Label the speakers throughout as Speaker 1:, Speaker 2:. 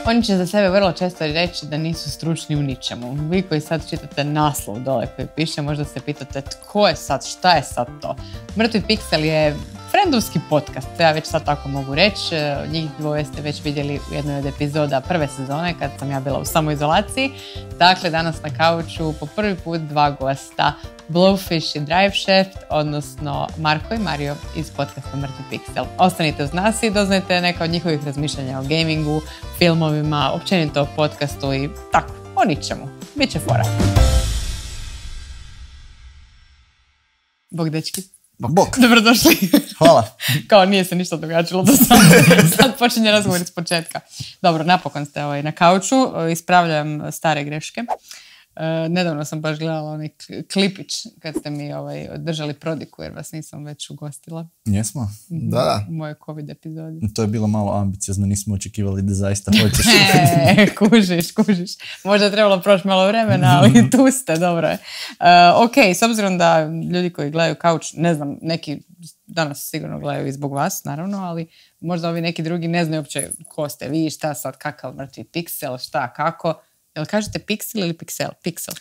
Speaker 1: Oni će za sebe vrlo često reći da nisu stručni u ničemu. Vi koji sad čitate naslov dole koji piše, možda se pitate tko je sad, šta je sad to. Mrtvi Piksel je frendovski podcast, to ja već sad tako mogu reći. Njih dvoje ste već vidjeli u jednoj od epizoda prve sezone kad sam ja bila u samoizolaciji. Dakle, danas na kauču po prvi put dva gosta, Blowfish i Driveshaft, odnosno Marko i Mario iz podcasta Mrtvi Piksel. Ostanite uz nas i doznajte neka od njihovih razmišljanja o gamingu, filmovima, općenito o podcastu i tako, o ničemu. Biće fora. Bog, dečki.
Speaker 2: Bok.
Speaker 1: Dobrodošli.
Speaker 2: Hvala.
Speaker 1: Kao nije se ništa događalo do sada. Sad počinje razgovor iz početka. Dobro, napokon ste na kauču. Ispravljam stare greške. Nedavno sam baš gledala onaj klipić kad ste mi držali prodiku jer vas nisam već ugostila.
Speaker 2: Jesmo?
Speaker 3: Da.
Speaker 1: U mojoj COVID epizodi.
Speaker 2: To je bilo malo ambiciozno, nismo očekivali da zaista hoćeš.
Speaker 1: Kužiš. Možda je trebalo proći malo vremena, ali tu ste, dobro je. Ok, s obzirom da ljudi koji gledaju kauč, ne znam, neki danas sigurno gledaju i zbog vas, naravno, ali možda ovi neki drugi ne znaju uopće ko ste vi, šta sad, kakav Mrtvi Piksel, šta, kako. Jel kažete Piksel ili Piksel? Piksel.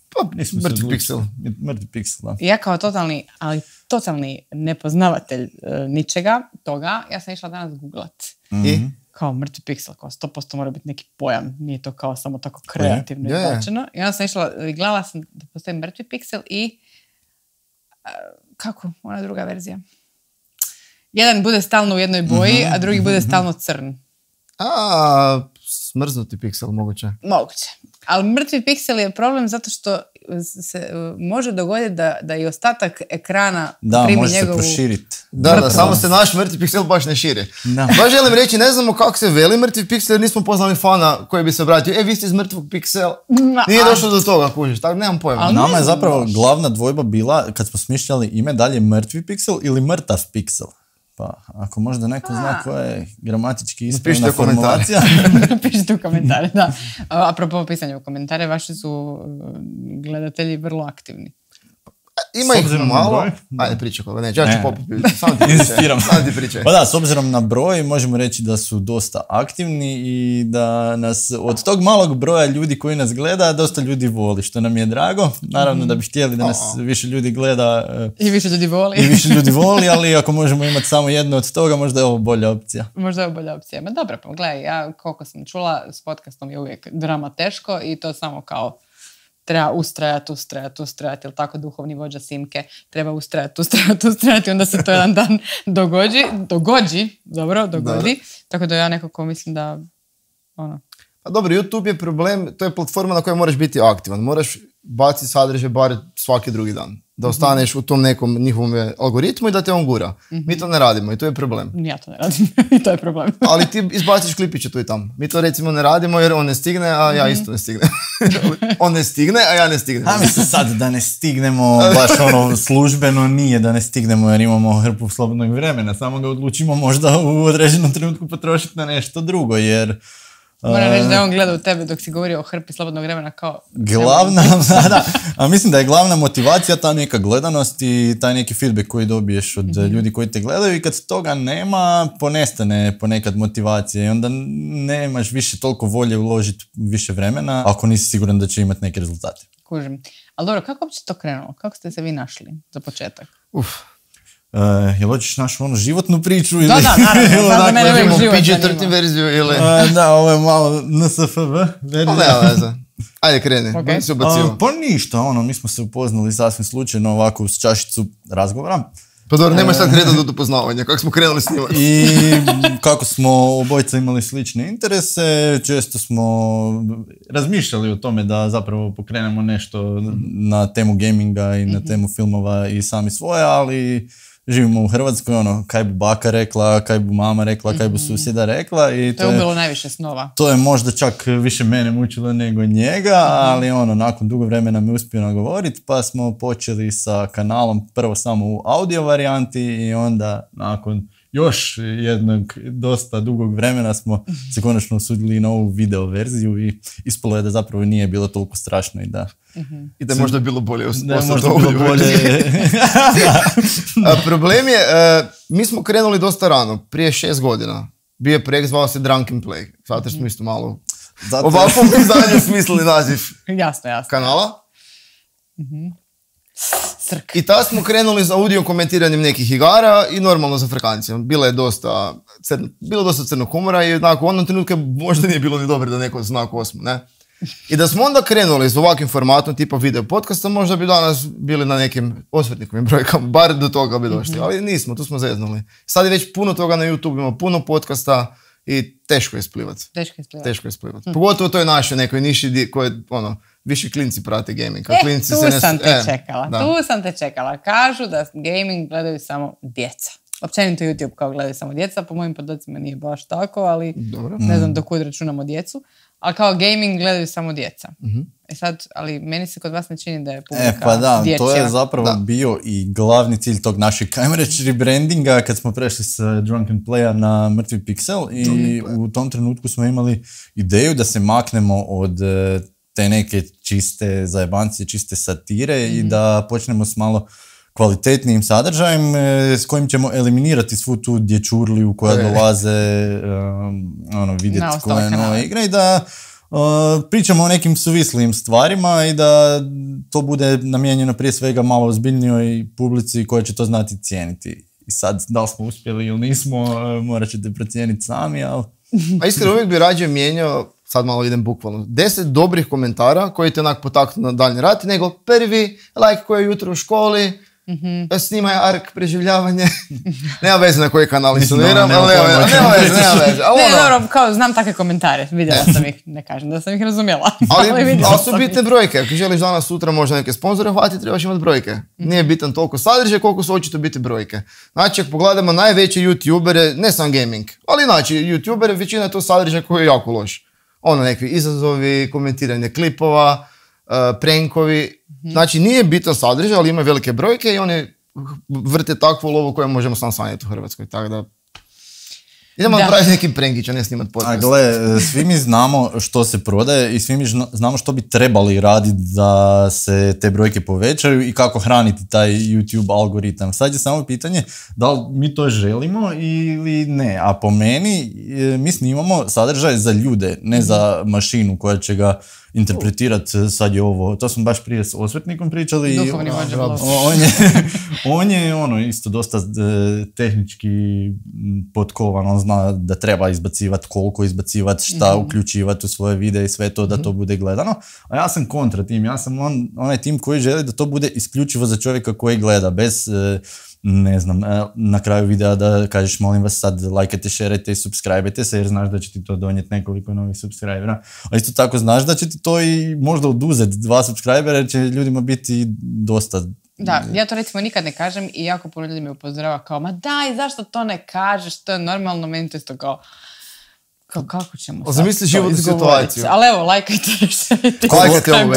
Speaker 3: Pa, Mrtvi Piksel.
Speaker 2: Mrtvi Piksel, da.
Speaker 1: Ja kao totalni nepoznavatelj ničega toga, ja sam išla danas googlat.
Speaker 3: I?
Speaker 1: Kao Mrtvi Piksel, kao 100% mora biti neki pojam, nije to kao samo tako kreativno izbačeno. I onda sam išla, gledala sam da postoji Mrtvi Piksel i kako, ona druga verzija. Jedan bude stalno u jednoj boji, a drugi bude stalno crn.
Speaker 3: Smrznuti piksel moguće.
Speaker 1: Moguće. Ali Mrtvi Piksel je problem zato što se može dogoditi da i ostatak ekrana primi
Speaker 2: može
Speaker 1: njegovu...
Speaker 2: se proširiti.
Speaker 3: Da, samo se naš Mrtvi Piksel baš ne širi.
Speaker 2: Da.
Speaker 3: Baš želim reći, ne znamo kako se veli Mrtvi Piksel jer nismo poznali fana koji bi se obratio. Vi ste iz Mrtvog Piksela. Nije došlo do toga, kužiš, tako nemam pojma.
Speaker 2: Nama je zapravo glavna dvojba bila, kad smo smišljali ime, dalje Mrtvi Piksel ili Mrtav Piksel. Pa, ako možda neko zna koja je gramatički ispravna formulacija.
Speaker 1: Pišite u komentare, da. Apropo pisanja u komentare, vaši su gledatelji vrlo aktivni.
Speaker 3: Ima ih malo. Ajde, pričaj koga, neće, ja ću popiti. Samo ti pričaj.
Speaker 2: Pa da, s obzirom na broj, možemo reći da su dosta aktivni i da nas od tog malog broja ljudi koji nas gleda, dosta ljudi voli, što nam je drago. Naravno da bi htjeli da nas više ljudi gleda.
Speaker 1: I više ljudi voli.
Speaker 2: Ali ako možemo imati samo jedno od toga, možda je ovo bolja opcija.
Speaker 1: Možda je ovo bolja opcija. Ma dobro, pa gledaj, ja koliko sam čula, s podcastom je uvijek drama teško i to samo kao treba ustrajati, ili tako duhovni vođa Simke, treba ustrajati, onda se to jedan dan dogodi. Tako da ja nekako mislim da,
Speaker 3: Pa dobro, YouTube je problem, to je platforma na kojoj moraš biti aktivan, moraš baciti sadržaj bar svaki drugi dan, da ostaneš u tom nekom njihovom algoritmu i da te on gura. Mi to ne radimo i to je problem.
Speaker 1: Ja to ne radim i to je problem.
Speaker 3: Ali ti izbaciš klipiće tu i tamo. Mi to recimo ne radimo jer on ne stigne, a ja isto ne stignem. On ne stigne, a ja ne stignem.
Speaker 2: A mislim sad da ne stignemo baš službeno nije da ne stignemo jer imamo hrpu slobodnog vremena, samo ga odlučimo možda u određenom trenutku potrošiti na nešto drugo jer...
Speaker 1: Moram reći da je on gleda u tebe dok si govorio o hrpi slobodnog vremena kao...
Speaker 2: A mislim da je glavna motivacija ta neka gledanost i taj neki feedback koji dobiješ od ljudi koji te gledaju i kad toga nema, ponestane ponekad motivacije i onda nemaš više toliko volje uložiti više vremena ako nisi siguran da će imati neke rezultate.
Speaker 1: Kužim. Ali dobro, kako uopće to krenulo? Kako ste se vi našli za početak?
Speaker 2: Jel hoćeš našu životnu priču?
Speaker 1: Da, naravno. Sad mene uvijek život
Speaker 3: PG-13 verziju ili...
Speaker 2: Da, ovo je malo NSFV verzija.
Speaker 3: Ne, veze. Ajde, kreni.
Speaker 2: Pa ništa, mi smo se upoznali sasvim slučajno ovako uz čašicu razgovora.
Speaker 3: Pa dobro, nemaš sad kretati do upoznavanja, kako smo krenuli snimati.
Speaker 2: I kako smo obojica imali slične interese, često smo razmišljali o tome da zapravo pokrenemo nešto na temu gaminga i na temu filmova i sami svoje, ali živimo u Hrvatskoj, kaj bi baka rekla, kaj bi mama rekla, kaj bi susjeda rekla. I
Speaker 1: to je ubilo najviše snova.
Speaker 2: To je možda čak više mene mučilo nego njega, ali nakon dugo vremena me uspio nagovoriti, pa smo počeli sa kanalom prvo samo u audio varijanti i onda nakon još jednog dosta dugog vremena smo se konačno usudili na ovu video verziju i ispalo je da zapravo nije bilo toliko strašno i da...
Speaker 3: I da je možda bilo bolje.
Speaker 2: Da je možda bilo bolje.
Speaker 3: Problem je, mi smo krenuli dosta rano, prije 6 godina. Bio je projekt, zvao se Drunk and Play. Zato što smo isto malo
Speaker 2: Zato-
Speaker 3: ovakvom izdanju smislili naziv
Speaker 1: Jasno.
Speaker 3: kanala.
Speaker 1: Srk.
Speaker 3: I tada smo krenuli za audio komentiranjem nekih igara i normalno za frkancijom. Bilo je dosta crnog humora i onako, u onom trenutku možda nije bilo ni dobro da neko zna ko smo, ne? I da smo onda krenuli s ovakvim formatom tipa video podcasta, možda bi danas bili na nekim osvetnikovim brojkama, bar do toga bi došli, ali nismo, tu smo zeznuli. Sad je već puno toga na YouTube, ima puno podcasta i teško je isplivati. Teško je isplivati. Pogotovo u toj našoj nekoj niši koje, više klinci prate gaming.
Speaker 1: Tu sam te čekala. Kažu da gaming gledaju samo djeca. Općenito YouTube kao gledaju samo djeca, po mojim podacima nije baš tako, ali
Speaker 3: dobro.
Speaker 1: Ne znam do kud računamo djecu. Ali kao gaming gledaju samo djeca. Sad, ali meni se kod vas ne čini da je publika
Speaker 2: pa da,
Speaker 1: dječja.
Speaker 2: to je zapravo bio i glavni cilj tog našeg, ajmo reći, rebrandinga kad smo prešli s Drunk and Playa na Mrtvi Pixel i u tom trenutku smo imali ideju da se maknemo od te neke čiste zajebancije, čiste satire i da počnemo s malo kvalitetnijim sadržajem s kojim ćemo eliminirati svu tu dječurliju koja dolaze vidjeti koje nove igre i da pričamo o nekim suvislijim stvarima i da to bude namijenjeno prije svega malo ozbiljnijoj publici koja će to znati cijeniti. I sad, da li smo uspjeli ili nismo, morat ćete procijeniti sami, ali...
Speaker 3: A iskreno uvijek bi rađe mijenjao, sad malo idem bukvalno, 10 dobrih komentara koji te onak potaknu na daljnji rat, nego prvi like koji je jutro u školi, snimaj ark preživljavanje. Nema veze na koji kanal installiram, ali nema veze.
Speaker 1: Ne, dobro, kao znam takve komentare, vidjela sam ih, ne kažem da sam ih razumjela.
Speaker 3: Ali su bitne brojke, ako želiš danas sutra možda neke sponzore hvatiti, trebaš imati brojke. Nije bitan toliko sadržaj koliko su očito biti brojke. Znači, ako pogledamo najveće youtubere, ne sam gaming, ali znači youtubere, većina je to sadržaj koji je jako loš. Nekakvi izazovi, komentiranje klipova, prankovi. Znači, nije bitan sadržaj, ali ima velike brojke i oni vrte takvu lovu koju možemo sam sanjati u Hrvatskoj. Tako da, idemo napraviti neki prankić, a ne snimati podcast.
Speaker 2: Gle, svi mi znamo što se prodaje i svi mi znamo što bi trebali raditi da se te brojke povećaju i kako hraniti taj YouTube algoritam. Sad je samo pitanje da li mi to želimo ili ne. A po meni, mi snimamo sadržaj za ljude, ne za mašinu koja će ga interpretirati. Sad je ovo, to smo baš prije s osvetnikom pričali.
Speaker 1: Duhovni vođa blog.
Speaker 2: On je isto dosta tehnički potkovan, on zna da treba izbacivati, koliko izbacivati, šta uključivati u svoje videe i sve to da to bude gledano. A ja sam kontra tim, ja sam onaj tim koji želi da to bude isključivo za čovjeka koji gleda, bez ne znam, na kraju videa da kažeš molim vas sad lajkajte, šerajte i subscribe-ajte se jer znaš da će ti to donijeti nekoliko novih subscribera. A isto tako znaš da će ti to i možda oduzeti 2 subscribera jer će ljudima biti dosta.
Speaker 1: Da, ja to recimo nikad ne kažem i jako puno ljudi me upozorava kao ma daj, zašto to ne kažeš, to je normalno, meni to isto kao kako ćemo sad
Speaker 3: zamisli životnu situaciju.
Speaker 1: Ali evo, lajkajte, šerajte.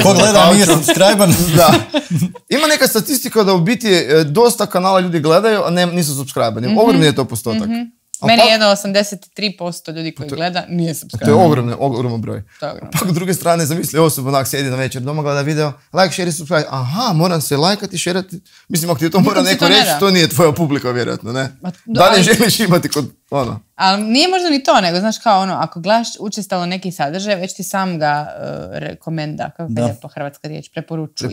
Speaker 2: Ko gleda nije subscribe-an.
Speaker 3: Da. Ima neka statistika da u biti dosta kanala ljudi gledaju, a nisu subscribe-ani. Ogromni je to postotak.
Speaker 1: Meni je 83% ljudi koji gleda nije subscribe.
Speaker 3: To je ogroman broj. Pak s druge strane, zamisli osoba onak sjedi na večer doma, gleda video, like, share i subscribe. Aha, moram se lajkati, šerati. Mislim, ako ti to mora neko reći, to nije tvoja publika, vjerojatno, ne? Da li želiš imati kod ono?
Speaker 1: Ali nije možda ni to, nego znaš kao ako gledaš učestalo neki sadržaj, već ti sam ga rekomenda, kako je lijepo hrvatska riječ, preporučuje.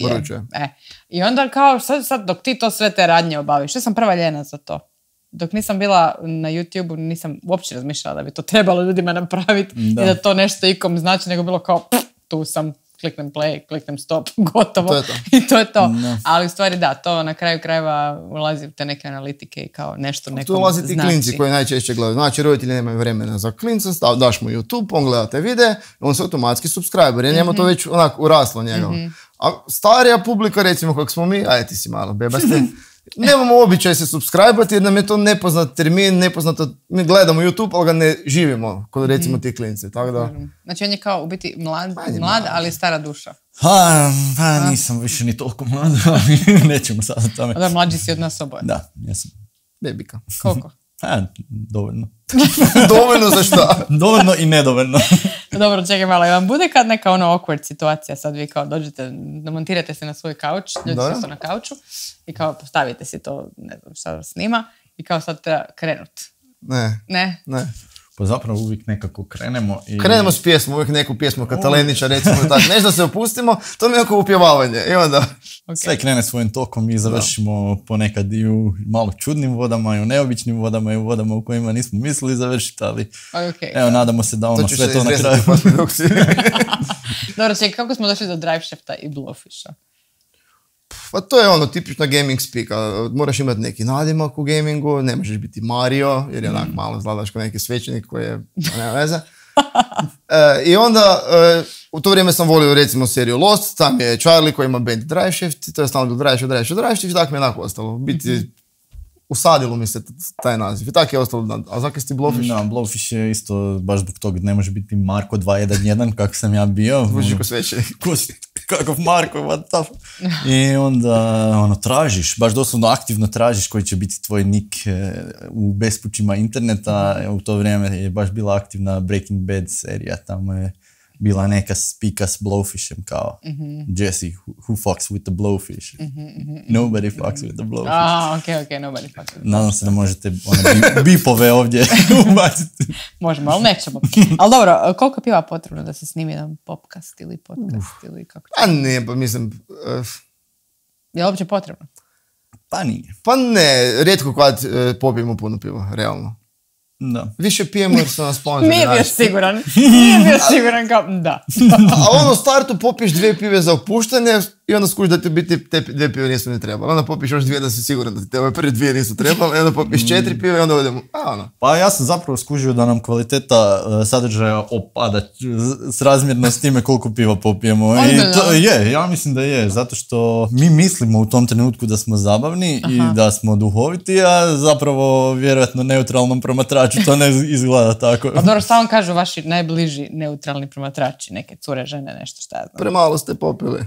Speaker 1: I onda kao sad dok ti to sve te radnje obaviš, ja sam prva ljena za to. Dok nisam bila na YouTube-u, nisam uopće razmišljala da bi to trebalo ljudima napraviti i da to nešto ikom znači, nego bilo kao tu sam, kliknem play, kliknem stop, gotovo.
Speaker 3: To je to.
Speaker 1: I to je to. No. Ali u stvari da, to na kraju krajeva ulazi u te neke analitike i kao nešto nekom
Speaker 3: tu ulazi ti klinci koji najčešće gledaju. Znači, roditelji nemaju vremena za klinca, daš mu YouTube, on gleda te videe, on se automatski subscriber, jer njemu to već onak uraslo njega. A starija publika, recimo, kako smo mi, ajde ti si malo bebaste, nemamo običaj se subscribe-ati jer nam je to nepoznat termin, nepoznato, mi gledamo YouTube, ali ga ne živimo, kod recimo ti klinci, tako da...
Speaker 1: Znači on je kao u biti mlad, ali stara duša.
Speaker 2: Nisam više ni toliko mlad, ali nećemo sad o tome.
Speaker 1: Da, mlađi si od nas oboje.
Speaker 2: Da, jesam.
Speaker 3: Bebika.
Speaker 1: Koliko?
Speaker 2: Dovoljno.
Speaker 3: Dovoljno za šta?
Speaker 2: Dovoljno i nedovoljno.
Speaker 1: Dobro, čekaj malo, vam bude kad neka awkward situacija, sad vi kao dođete, montirate se na svoj kauč, ljudi su na kauču i kao postavite si to, ne znam šta snima i kao sad treba krenut.
Speaker 3: Ne.
Speaker 2: Pa zapravo uvijek nekako krenemo i...
Speaker 3: Krenemo s pjesmom, uvijek neku pjesmu Katalenića, recimo tako, nešto se opustimo, to mi je oko upjevavanje. I onda...
Speaker 2: Sve krene svojim tokom i završimo ponekad i u malo čudnim vodama, i u neobičnim vodama, i u vodama u kojima nismo mislili završiti, ali evo, nadamo se da ono sve to na kraju...
Speaker 1: Dobro, čekaj, kako smo došli do Drive Shafta i Blowfisha?
Speaker 3: Pa to je ono tipična gaming spika. Moraš imati neki nadimak u gamingu, ne možeš biti Mario, jer je onak malo izgledaš kao neki svećenik koji je, nema veze. I onda, u to vrijeme sam volio recimo seriju Lost, tam je Charlie koji ima band Drive Shaft, to je stalno Drive Shaft, i tako mi je onako ostalo. Biti, usadilo mi se taj naziv. I tako je ostalo. A zakaj si ti Blowfish?
Speaker 2: Da, Blowfish je isto baš zbog toga, ne može biti Marko 211 kako sam ja bio.
Speaker 3: Zvuči ko svećenik.
Speaker 2: Kakav Marko, what the fuck. I onda tražiš, baš doslovno aktivno tražiš koji će biti tvoj nick u bespućima interneta. U to vrijeme je baš bila aktivna Breaking Bad serija, tamo je bila neka spika s Blowfishem kao Jesse, who fucks with the Blowfish? Nobody fucks with the Blowfish.
Speaker 1: Ok, nobody fucks with the Blowfish.
Speaker 2: Nadam se da možete bipove ovdje ubaciti.
Speaker 1: Možemo, ali nećemo. Ali dobro, koliko piva potrebno da se snimi jedan popcast ili podcast ili kako?
Speaker 3: A ne, pa mislim...
Speaker 1: Je li uopće potrebno?
Speaker 2: Pa nije.
Speaker 3: Pa ne, rijetko kad popijemo puno piva, realno.
Speaker 2: Da.
Speaker 3: Više pijemo jer su nas sponzori.
Speaker 1: Nije bio siguran kao, da.
Speaker 3: A ono u startu popiješ 2 pive za opuštanje i onda skužiš da ti biti te 2 pive nisu ni trebali. Onda popiješ još 2 da si siguran da ti te ove prvi 2 nisu trebali, i onda popiješ 4 pive i onda odemo.
Speaker 2: Pa ja sam zapravo skužio da nam kvaliteta sadržaja opada srazmjerno s time koliko piva popijemo. I to je, ja mislim da je, zato što mi mislimo u tom trenutku da smo zabavni i da smo duhoviti, a zapravo vjerojatno neutralnom promatraču to ne izgleda tako.
Speaker 1: A dobro, samo kažu vaši najbliži neutralni promatrači, neke cure, žene, nešto šta ja znam.
Speaker 3: Premalo ste popili.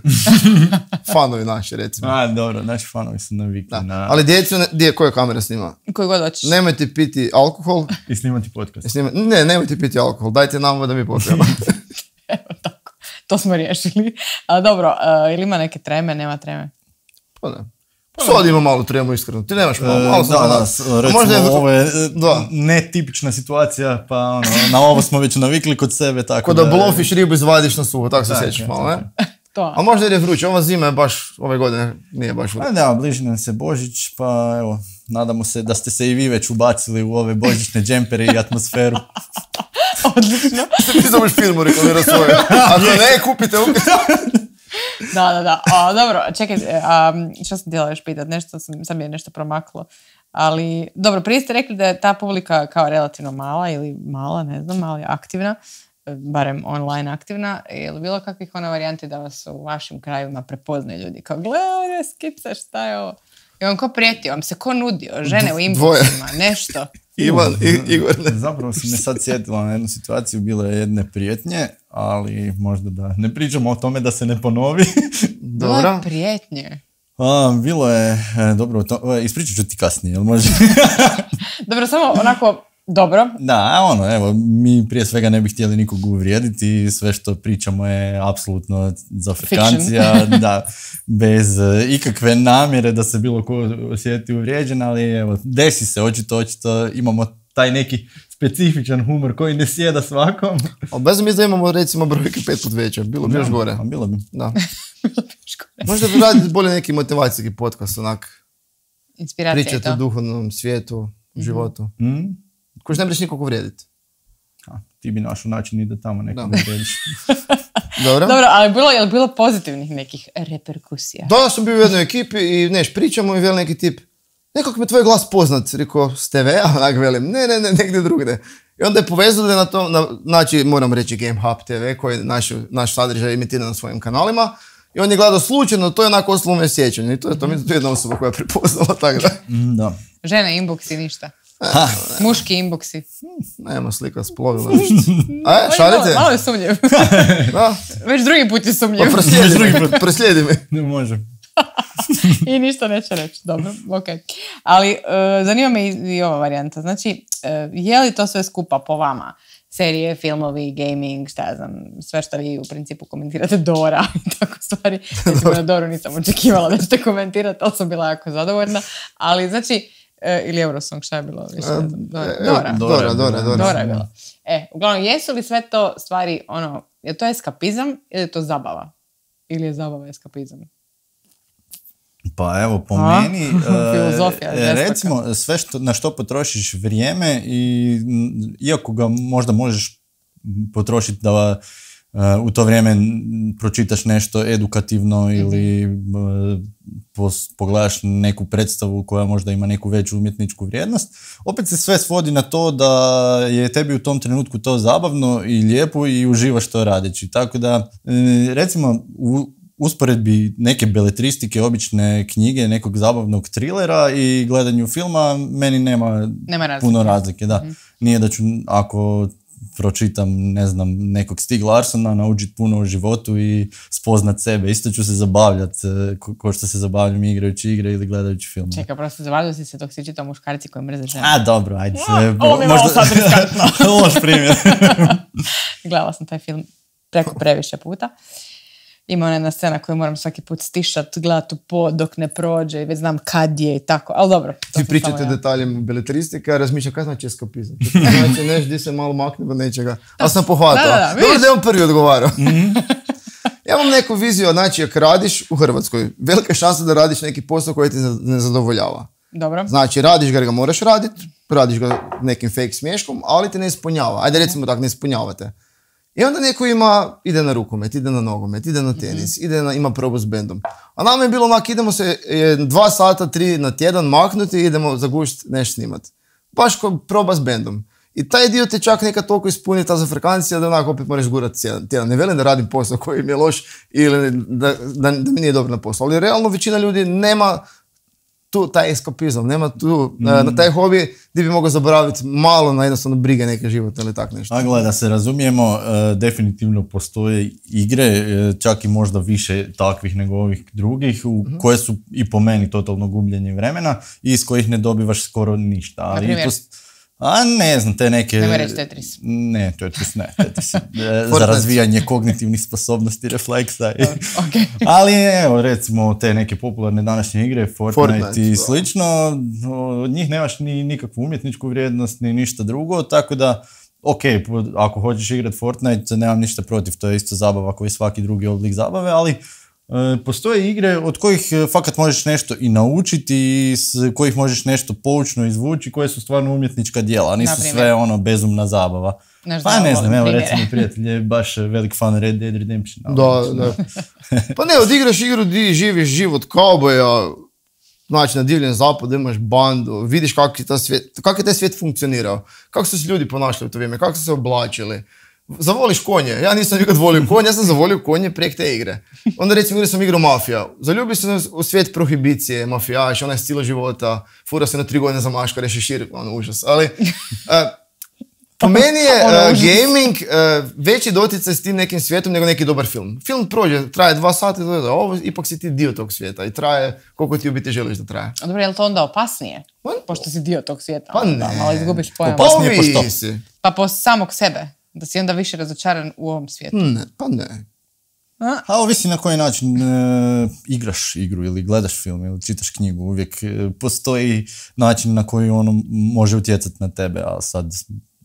Speaker 3: Fanovi naši, recimo.
Speaker 2: A, dobro, naši fanovi su navikli na...
Speaker 3: Ali djecu, koja kamera snima?
Speaker 1: Koji god hoćeš.
Speaker 3: Nemojte piti alkohol.
Speaker 2: I snimati podcast.
Speaker 3: Ne, nemojte piti alkohol. Dajte nam da mi popijemo.
Speaker 1: Evo tako. To smo riješili. A dobro, ili ima neke treme, nema treme?
Speaker 3: Pa ne. Sad ima malo tremu, iskreno. Ti nemaš malo
Speaker 2: recimo ovo je netipična situacija, pa na ovo smo već navikli kod sebe. Tako
Speaker 3: da Blowfish ribu izvadiš na suho, tako se sjećaš malo, ne? A možda jer je vruće, ova zima je baš, ove godine nije baš vruće.
Speaker 2: Da, bliži nam se Božić, pa evo, nadamo se da ste se i vi već ubacili u ove božićne džempere i atmosferu.
Speaker 1: Odlično.
Speaker 3: Ti zoveš firmu reklamira svoje. Ako ne, kupite
Speaker 1: Da. Dobro, čekaj, što sam htjela još pitati, sam je nešto promaklo. Ali, dobro, prije ste rekli da je ta publika kao relativno mala ili mala, ne znam, ali aktivna, barem online aktivna. Je li bilo kakvih varijanti da vas u vašim krajevima prepoznaju ljudi? Kao, gledaj, skipsa, šta je ovo? I on ko prijetio, vam se ko nudio? Žene u inboxima, nešto?
Speaker 3: Ivan, Igor.
Speaker 2: Zapravo sam me sad sjetila na jednu situaciju, bilo je jedne prijetnje, ali možda da ne pričamo o tome da se ne ponovi.
Speaker 1: Bilo je prijetnje?
Speaker 2: Bilo je, dobro, ispričat ću ti kasnije, jel može?
Speaker 1: Dobro, samo onako, dobro.
Speaker 2: Da, evo, mi prije svega ne bi htjeli nikog uvrijediti i sve što pričamo je apsolutno zafrkancija, da, bez ikakve namjere da se bilo ko osjeti uvrijeđen, ali evo, desi se, očito imamo taj neki specifičan humor koji ne sjeda svakom.
Speaker 3: Ali bez mi da imamo recimo brojke 5 put veće, bilo bi još gore.
Speaker 2: Bilo bi.
Speaker 3: Da. Možda bi raditi bolje neki motivacijski podcast, onak.
Speaker 1: Inspiracija
Speaker 3: pričati
Speaker 1: je to.
Speaker 3: O duhovnom svijetu, životu. Koji ne možeš nikog uvrijediti.
Speaker 2: Ti bi našao način i da tamo nekog uvrijediš.
Speaker 3: Dobro,
Speaker 1: ali je li bilo pozitivnih nekih reperkusija?
Speaker 3: Da, sam bio u jednoj ekipi i pričamo i veli neki tip, nekako mi tvoj glas poznat, rekao, s TV-a, onak velim, ne, negdje drugdje. I onda je povezali na to, znači, moram reći Game Hub TV, koji naš sadržaj imitira na svojim kanalima. I on je gledao slučajno, to je onako ostalo me sjećanje. I to je jedna osoba koja je prepoznala, tako da.
Speaker 2: Da.
Speaker 1: Žene, inboxi, ništa. Muški inboxi.
Speaker 3: Nema slika s plovila, ništa. Šalite?
Speaker 1: Malo je sumnjiv. Već drugi put je sumnjiv.
Speaker 3: Pa proslijedi me.
Speaker 2: Ne može.
Speaker 1: I ništa neće reći. Dobro, ok. Ali zanima me i ova varijanta. Znači, je li to sve skupa po vama? Serije, filmovi, gaming, šta ja znam, sve što vi u principu komentirate, Dora i tako stvari. Recimo na Doru nisam očekivala da ćete komentirati, ali sam bila jako zadovoljna. Ali znači, ili Eurosong, šta je bilo? Više,
Speaker 3: Dora
Speaker 1: je bilo. Uglavnom, jesu li sve to stvari, je to eskapizam ili je to zabava? Ili je zabava eskapizam?
Speaker 2: Pa evo, po meni,
Speaker 1: filozofija,
Speaker 2: recimo, sve na što potrošiš vrijeme i iako ga možda možeš potrošiti da u to vrijeme pročitaš nešto edukativno ili pogledaš neku predstavu koja možda ima neku veću umjetničku vrijednost, opet se sve svodi na to da je tebi u tom trenutku to zabavno i lijepo i uživaš to radeći. Tako da, recimo, u usporedbi neke beletristike, obične knjige, nekog zabavnog trilera i gledanju filma, meni nema puno razlike. Da. Nije da ću, ako pročitam, ne znam, nekog Stieg Larssona, naučiti puno o životu i spoznat sebe. Isto ću se zabavljati ko što se zabavljam igrajući igre ili gledajući film.
Speaker 1: Čekaj, prosto zabavljaju si se dok si čitao muškarci koji mrze žene.
Speaker 2: A, dobro, ajde.
Speaker 1: Ovo mi je malo sad riskantno.
Speaker 2: Loš primjer.
Speaker 1: Gledala sam taj film preko previše puta. Ima ona jedna scena koju moram svaki put stišati, gledati u pod dok ne prođe i već znam kad je i tako, ali dobro.
Speaker 3: Ti pričate detaljem beletristike, a razmišljam kada znači eskapizam. Znači nešto gdje se malo makne do nečega. Ali sam pohvatao. Dobro da je on prvi odgovarao. Ja imam neku viziju, znači ako radiš u Hrvatskoj, velika šansa da radiš neki posao koji ti ne zadovoljava.
Speaker 1: Dobro.
Speaker 3: Znači radiš ga moraš raditi, radiš ga nekim fake smješkom, ali te ne ispunjava. Ajde recimo tako, ne ispunjavate. I onda neko ide na rukomet, ide na nogomet, ide na tenis, ima probu s bendom. A nama je bilo onak, idemo se 2 sata, 3 na tjedan maknuti i idemo zagušiti nešto snimati. Baš kao proba s bendom. I taj dio te čak nekad toliko ispuni ta zafrekancija da onako opet moraš gurati tjedan. Ne velim da radim posao koji mi je loš ili da mi nije dobro na poslu. Ali realno većina ljudi nema tu taj eskapizam, nema tu na taj hobi gdje bi mogao zaboraviti malo na jednostavno brige neke životne ili tak nešto.
Speaker 2: A gledaj, da se razumijemo, definitivno postoje igre, čak i možda više takvih nego ovih drugih, koje su i po meni totalno gubljenje vremena i iz kojih ne dobivaš skoro ništa.
Speaker 1: Na primjer?
Speaker 2: A ne znam, te neke...
Speaker 1: Nema reći Tetris.
Speaker 2: Ne, Tetris ne. Tetris za razvijanje kognitivnih sposobnosti, refleksa.
Speaker 1: Okay.
Speaker 2: Ali evo, recimo, te neke popularne današnje igre, Fortnite i slično, od njih nemaš ni nikakvu umjetničku vrijednost, ni ništa drugo, tako da, ok, ako hoćeš igrati Fortnite, nemam ništa protiv, to je isto zabava koji svaki drugi oblik zabave, ali postoje igre od kojih fakat možeš nešto i naučiti i s kojih možeš nešto poučno izvući, koje su stvarno umjetnička djela, a nisu sve bezumna zabava. Pa ne znam, evo recimo prijatelj je baš velik fan Red Dead Redemption.
Speaker 3: Da. Pa ne, odigraš igru di živiš život kauboja, znači na divljem zapadu imaš bandu, vidiš kako je taj svijet funkcionirao, kako su se ljudi ponašali u to vrijeme, kako su se oblačili. Zavoliš konje. Ja nisam nikad volio konje, ja sam zavolio konje prek te igre. Onda recimo igrao sam igru Mafija. Zaljubio sam u svijet prohibicije, mafijaš, onaj stil života, fura se na 3 godine za maškare, šešir, užas. Ali po meni je gaming veći doticaj s tim nekim svijetom nego neki dobar film. Film prođe, traje 2 sata, ovo ipak si ti dio tog svijeta i traje koliko ti u biti želiš da traje.
Speaker 1: A dobro, je li to onda opasnije? Pošto si dio tog svijeta.
Speaker 3: Pa ne.
Speaker 1: Malo izgubiš pojam.
Speaker 2: Opasnije po što?
Speaker 1: Pa po samog sebe. Da si onda više razočaran u ovom svijetu.
Speaker 3: Ne, pa ne.
Speaker 2: A ovisi na koji način igraš igru ili gledaš film ili čitaš knjigu. Uvijek postoji način na koji ono može utjecati na tebe, a sad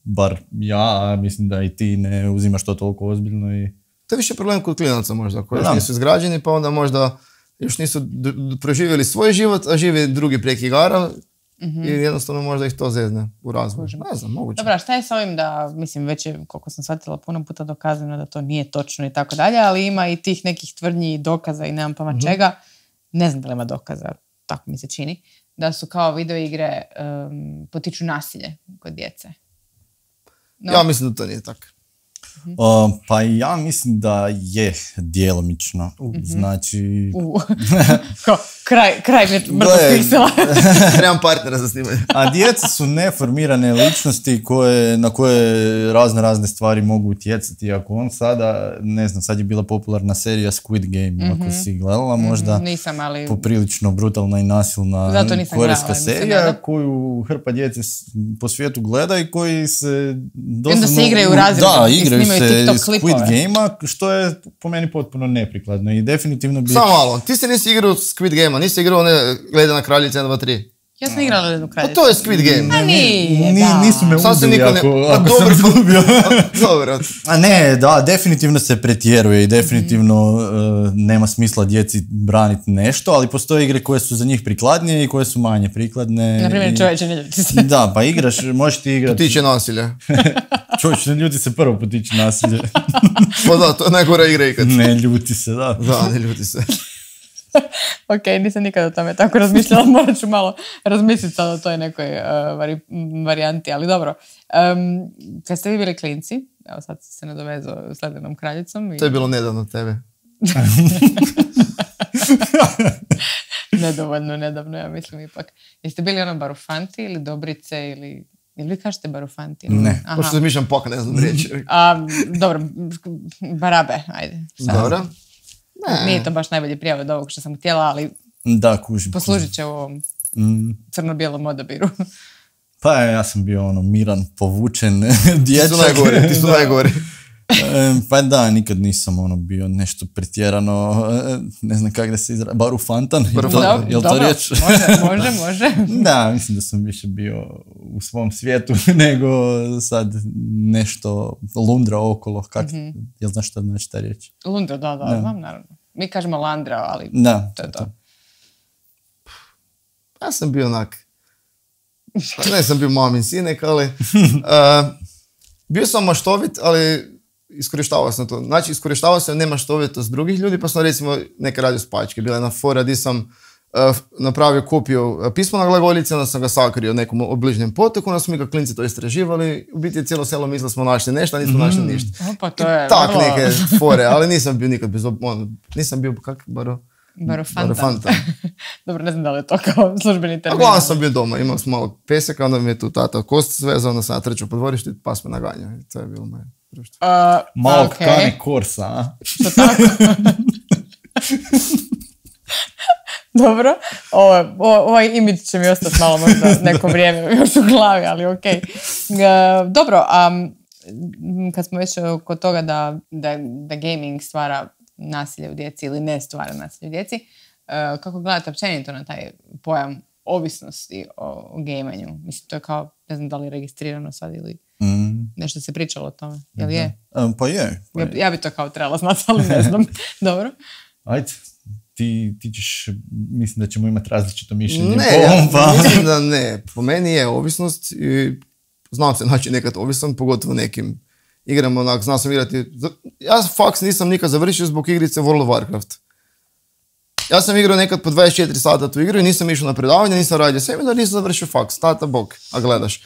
Speaker 2: bar ja, mislim da i ti ne uzimaš to toliko ozbiljno.
Speaker 3: To je više problem kod klinaca možda, koji još nisu izgrađeni, pa onda možda još nisu proživjeli svoj život, a žive drugi prek igara. I jednostavno možda ih to zezne u razvoju. Ne znam, moguće.
Speaker 1: Dobro, šta je s ovim da, mislim, već je, koliko sam shvatila, puno puta dokazano da to nije točno i tako dalje, ali ima i tih nekih tvrdnji i dokaza i nemam pojma čega. Ne znam da li ima dokaza, tako mi se čini, da su kao videoigre potiču nasilje kod djece. No.
Speaker 3: Ja mislim da to nije tako.
Speaker 2: Pa ja mislim da je djelomično. Znači...
Speaker 1: kraj mrtvog piksela.
Speaker 3: Trebam partnera za snimanje.
Speaker 2: A djeca su neformirane ličnosti na koje razne stvari mogu utjecati. Ako on sada, ne znam, sad je bila popularna serija Squid Game, ako si gledala, možda
Speaker 1: nisam, ali...
Speaker 2: poprilično brutalna i nasilna korejska serija koju hrpa djece po svijetu gleda i koji se doslovno...
Speaker 1: Onda se igraju u razredu.
Speaker 2: Da, igraju se Squid Game-a, što je po meni potpuno neprikladno i definitivno bi...
Speaker 3: Samo malo, ti se nisi igrao Squid Game-a, nisi igrao Ledena kraljica 1, 2, 3.
Speaker 1: Ja sam igrala Ledenu
Speaker 3: Pa
Speaker 1: kraljicu.
Speaker 3: to je Squid Game.
Speaker 1: A nije, da.
Speaker 2: Nisu me
Speaker 3: Sad se
Speaker 2: uzeli
Speaker 3: niko ne-
Speaker 2: ako
Speaker 3: dobro,
Speaker 2: sam izgubio.
Speaker 3: Dobro.
Speaker 2: A ne, da, definitivno se pretjeruje i definitivno nema smisla djeci braniti nešto, ali postoje igre koje su za njih prikladnije i koje su manje prikladne.
Speaker 1: Naprimjer,
Speaker 2: i-
Speaker 1: čovječe, ne ljuti se.
Speaker 2: Da, pa igraš, možeš ti igrati.
Speaker 3: Tiče nasilja.
Speaker 2: Čovječ, ne ljuti se prvo potiče nasilje.
Speaker 3: Pa da, to je najgora igra ikad.
Speaker 2: Ne ljuti se, da.
Speaker 3: Da, ne ljuti se.
Speaker 1: Ok, nisam nikad o tome tako razmišljala, morat ću malo razmisliti sad o toj nekoj varijanti, ali dobro. Kad ste vi bili klinci, evo sad si se nadovezao s Ledenom kraljicom.
Speaker 3: To je bilo nedavno od tebe.
Speaker 1: Nedovoljno nedavno, ja mislim ipak. Jeste bili ono barufanti ili dobrice ili... Ili vi kažete barufanti?
Speaker 2: Ne.
Speaker 1: Aha.
Speaker 3: Pošto zmišljam pak, ne znam riječi.
Speaker 1: Dobro, barabe, ajde.
Speaker 3: Dobro.
Speaker 1: Nije to baš najbolji prijevod od ovog što sam htjela, ali
Speaker 2: Da, kužim.
Speaker 1: poslužit će u ovom crno-bijelom odabiru.
Speaker 2: Pa ja sam bio ono miran, povučen
Speaker 3: Ti
Speaker 2: dječak.
Speaker 3: su najgori, ti su najgori.
Speaker 2: Pa da, nikad nisam ono bio nešto pretjerano, ne znam kako da se izrazi, barufantan, je to riječ?
Speaker 1: Može.
Speaker 2: Da, mislim da sam više bio u svom svijetu nego sad nešto lundra okolo, jel znaš šta znači ta riječ?
Speaker 1: Lundra, da, znam naravno. Mi kažemo landra, ali
Speaker 2: Da,
Speaker 1: to je to.
Speaker 3: Ja sam bio onak, ne sam bio mamin sinek, ali bio sam maštovit, ali iskorištavao sam to. Znači, iskorištavao sam nemaštovitost drugih ljudi, pa sam recimo neke radio spačke. Bila je na fora gdje sam napravio kopiju pismena glagoljice, onda sam ga sakrio nekom obližnjem potoku, onda smo mi ga klinci to istraživali. U biti cijelo selo mislilo smo našli nešto, a nismo našli ništa.
Speaker 1: Pa to je
Speaker 3: Tak
Speaker 1: vrlo
Speaker 3: neke fore, ali nisam bio nikad nisam bio
Speaker 1: barufanta. Dobro, ne znam da li je to kao službeni
Speaker 3: A
Speaker 1: termin.
Speaker 3: glavno sam bio doma, imao sam malo peseka, onda mi je tu tata kost svezao, onda sam trčao po dvorištu i pas me naganjao. I to je bilo moje društvo.
Speaker 2: Malo
Speaker 1: ok.
Speaker 2: kane korsa, a?
Speaker 1: Što tako? Dobro, ovaj imidž će mi ostati malo možda neko vrijeme još u glavi, ali ok. Dobro, kad smo već kod toga da gaming stvara nasilje u djeci ili ne stvara nasilje u djeci, kako gledate općenito na taj pojam ovisnosti o gamanju? Mislim, to je kao, ne znam da li je registrirano sad ili nešto se pričalo o tome. Jel je?
Speaker 2: Pa je.
Speaker 1: Ja bi to kao trebala znati, ali ne znam. Dobro.
Speaker 2: Ajde, ti ćeš, mislim da ćemo imati različito mišljenje.
Speaker 3: Ne, ja mislim da ne. Po meni je ovisnost i znam se naći nekad ovisan, pogotovo nekim igrama, onak, znam sam igrati. Ja faks nisam nikad završio zbog igrice World of Warcraft. Ja sam igrao nekad po 24 sata tu igru i nisam išao na predavanje, nisam radio seminar, nisam završio faks. Tata bog, a gledaš.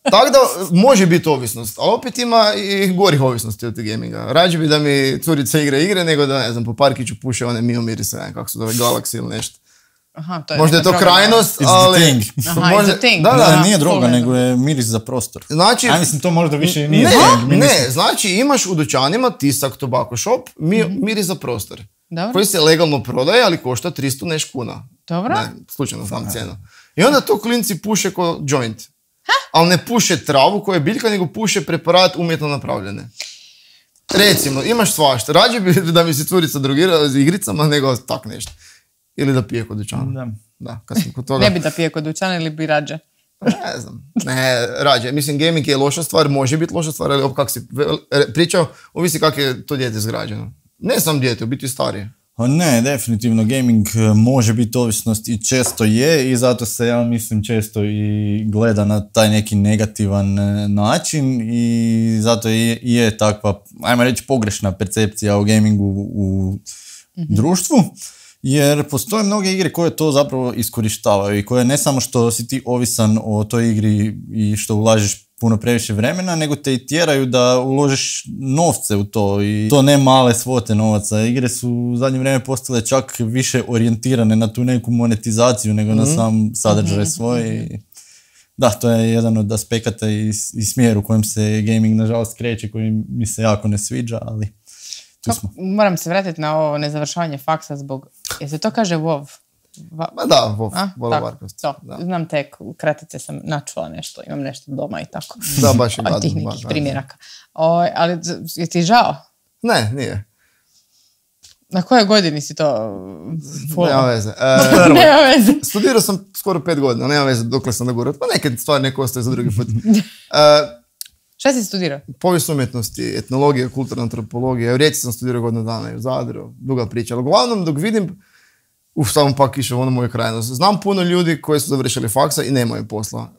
Speaker 3: Tako da može biti ovisnost, ali opet ima i gorih ovisnosti od gaminga. Rađe bi da mi curica igra igre nego da, ne znam, po parkiću puše one Mio mirise, kako se zove, Galaxy ili nešto.
Speaker 1: Aha, to je
Speaker 3: možda je to
Speaker 1: droga.
Speaker 3: krajnost,
Speaker 2: It's
Speaker 3: ali...
Speaker 2: the thing.
Speaker 1: Aha, it's the thing.
Speaker 2: Da, nije droga, nego je miris za prostor.
Speaker 3: Znači,
Speaker 2: a mislim, to možda više nije
Speaker 3: ne,
Speaker 2: thing.
Speaker 3: ne, znači imaš u dućanima Tisak Tobacco Shop miris za prostor.
Speaker 1: Dobro.
Speaker 3: Koji se legalno prodaje, ali košta 300 neš kuna.
Speaker 1: Dobro.
Speaker 3: Ne, slučajno znam cijenu. I onda to klinci puše ko joint. Ali ne puše travu koja je biljka, nego puše preparat umjetno napravljene. Recimo, imaš svašta. Rađe bi da mi se curica drogira s igricama, nego tak nešto. Ili da pije kod dućana. Da, kad sam kod toga...
Speaker 1: Ne bi da pije kod dućana ili bi rađe?
Speaker 3: Ne znam. Ne, rađe. Mislim, gaming je loša stvar, može biti loša stvar, ali kako si pričao, ovisi kako je to dijete zgrađeno. Ne sam dijete, u biti starije.
Speaker 2: Ne, definitivno gaming može biti ovisnost i često je i zato se, ja mislim, često i gleda na taj neki negativan način i zato je takva, ajmo reći, pogrešna percepcija o gamingu u društvu. Jer postoje mnoge igre koje to zapravo iskorištavaju i koje ne samo što si ti ovisan o toj igri i što ulažeš puno previše vremena, nego te i tjeraju da uložiš novce u to i to ne male svote novaca. Igre su u zadnje vrijeme postale čak više orijentirane na tu neku monetizaciju nego na sam sadržaj svoj. Da, to je jedan od aspekata i smjer u kojem se gaming nažalost kreće, koji mi se jako ne sviđa, ali tu smo.
Speaker 1: Moram se vratiti na ovo nezavršavanje faksa zbog... Jel se to kaže WoW?
Speaker 3: Ma da, WoW, World of Warcraft.
Speaker 1: Da. Znam tek, kratice sam načula nešto, imam nešto doma i tako.
Speaker 3: Da, baš je
Speaker 1: od tih nekih primjeraka. Ali je ti žao?
Speaker 3: Ne, nije.
Speaker 1: Na kojoj godini si to
Speaker 3: Nema veze.
Speaker 1: Nema veze.
Speaker 3: Studirao sam skoro 5 godina, nema veze dokle sam nagurao. Pa neke stvari neko ostaje za drugi put.
Speaker 1: Šta si studirao?
Speaker 3: Povijest umjetnosti, etnologija, kulturna antropologija. U Rijeci sam studirao godinu dana i u Zadru. Duga priča. Ali uglavnom dok vidim, samo pak išao u onu moju krajnost. Znam puno ljudi koji su završili faksa i nemaju posla.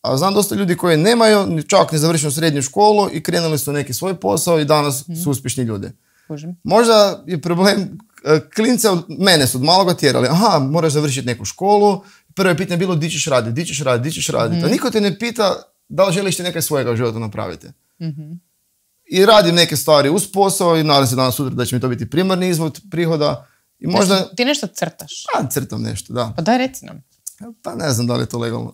Speaker 3: A znam dosta ljudi koji nemaju čak ni završenu srednju školu i krenuli su neki svoj posao i danas su uspješni ljudi. Možda je problem klince mene su od maloga tjerali. Aha, moraš završiti neku školu. Prvo je pitanje bilo di ćeš raditi. A niko te ne pita da li želiš ti nekaj svojega u životu napraviti. I radim neke stvari uz posao i nadam se danas sutra da će mi to biti primarni izvod prihoda. I možda...
Speaker 1: Ti nešto crtaš?
Speaker 3: Crtam nešto, da.
Speaker 1: Pa daj reci nam.
Speaker 3: Pa ne znam da li je to legalno.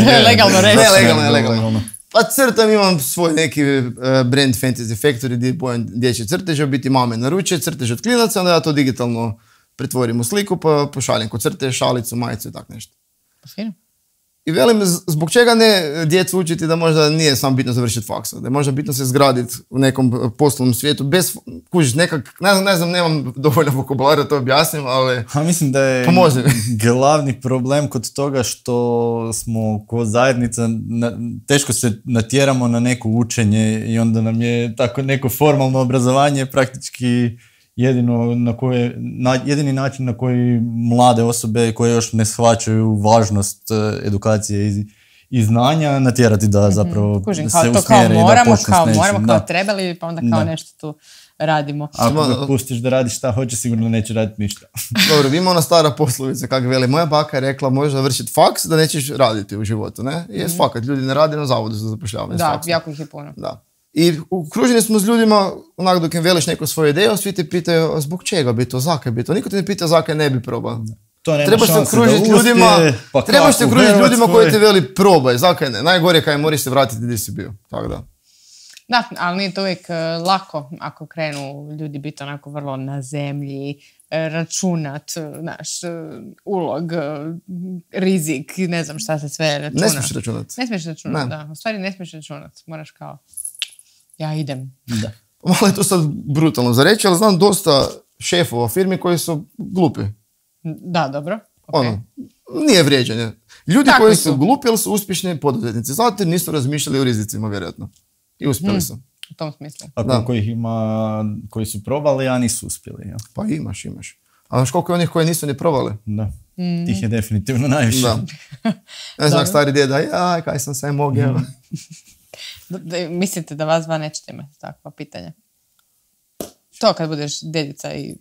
Speaker 1: To je legalno reći.
Speaker 3: Ne, legalno. Pa crtam, imam svoj neki brand Fantasy Factory gdje bojam dječje crteže, biti mame naruče, crtež od klinaca, onda ja to digitalno pretvorim u sliku pa pošaljem kod crtež, šalicu, majicu i tak nešto.
Speaker 1: Pa fino.
Speaker 3: I velim, zbog čega ne djecu učiti da možda nije samo bitno završiti faksa, da je možda bitno se zgraditi u nekom poslovnom svijetu, bez, kužiš, nekak, ne znam, nemam dovoljno vokabulara da to objasnim, ali
Speaker 2: mislim da je glavni problem kod toga što smo ko zajednica, teško se natjeramo na neko učenje i onda nam je tako neko formalno obrazovanje praktički jedini način na koji mlade osobe koje još ne shvaćaju važnost edukacije i znanja natjerati da zapravo se usmjere i da počne s nečim.
Speaker 1: Moramo kao trebali, pa onda kao nešto tu radimo.
Speaker 2: Ako ga pustiš da radi šta hoće, sigurno neće raditi ništa.
Speaker 3: Dobro, ima ona stara poslovica kako veli. Moja baka je rekla možeš završiti faks da nećeš raditi u životu, ne? I fakat, ljudi ne rade na zavodu za zapošljavanje.
Speaker 1: Da, jako ih je puno.
Speaker 3: Da. I okruženi smo s ljudima, onak dok im veliš neku svoju ideju, svi te pitaju zbog čega bi to, zakaj bi to. Niko te ne pita zakaj ne bi probao. Trebaš se okružiti ljudima koji te veli probaj, zakaj ne. Najgore kaj moraš se vratiti gdje si bio. Tako da.
Speaker 1: Da, ali nije to uvijek lako ako krenu ljudi biti onako vrlo na zemlji, računat, naš ulog, rizik, ne znam šta se sve računa.
Speaker 3: Ne smiješ računat.
Speaker 1: Da. U stvari ne smiješ računat. Moraš kao, ja idem.
Speaker 3: Da. Malo je to sad brutalno za reći, ali znam dosta šefova firmi koji su glupi.
Speaker 1: Da, dobro. Okay.
Speaker 3: Nije vrijeđanje. Ljudi tako koji su glupi, ali su uspješni poduzetnici. Zato jer nisu razmišljali o rizicima, vjerojatno. I uspjeli su.
Speaker 1: U tom smislu.
Speaker 2: A koliko ih ima koji su probali, a nisu uspjeli. Ja?
Speaker 3: Pa imaš. A znaš koliko je onih koji nisu ni probali?
Speaker 2: Da. Tih je definitivno najviše.
Speaker 3: Da. Ne znam, stari djeda, kaj sam sve mogao.
Speaker 1: Mislite da vas dva nećete imati takva pitanja? To kad budeš dedica i...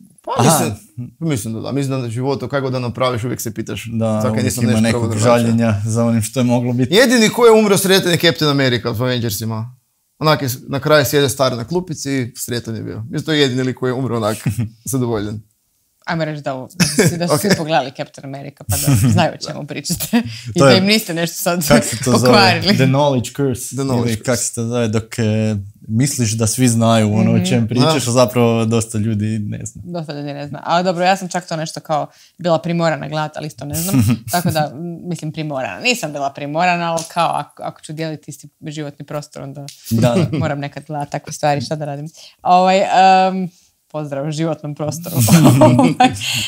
Speaker 3: Mislim da da. Mislim da u životu kako da napraviš uvijek se pitaš.
Speaker 2: Da, uvijek ima nekog žaljenja za onim što je moglo biti.
Speaker 3: Jedini ko je umro sretan je Captain America u Avengersima. Onak je na kraju sjede star na klupici i sretan je bio. Mislim to je jedini lik koji je umro onak zadovoljen.
Speaker 1: Ajmo reći da su svi pogledali Captain America pa da znaju o čemu pričate. I da im niste nešto sad pokvarili.
Speaker 2: The knowledge curse. Ili kako se to zove dok misliš da svi znaju ono o čem pričaš, a zapravo dosta ljudi ne zna.
Speaker 1: Dosta ljudi ne zna. Ali dobro, ja sam čak to nešto kao bila primorana gledati, ali isto ne znam. Tako da, mislim primorana. Nisam bila primorana, ali kao ako ću dijeliti isti životni prostor, onda moram nekad gledati takve stvari, šta da radim. Pozdrav u životnom prostoru.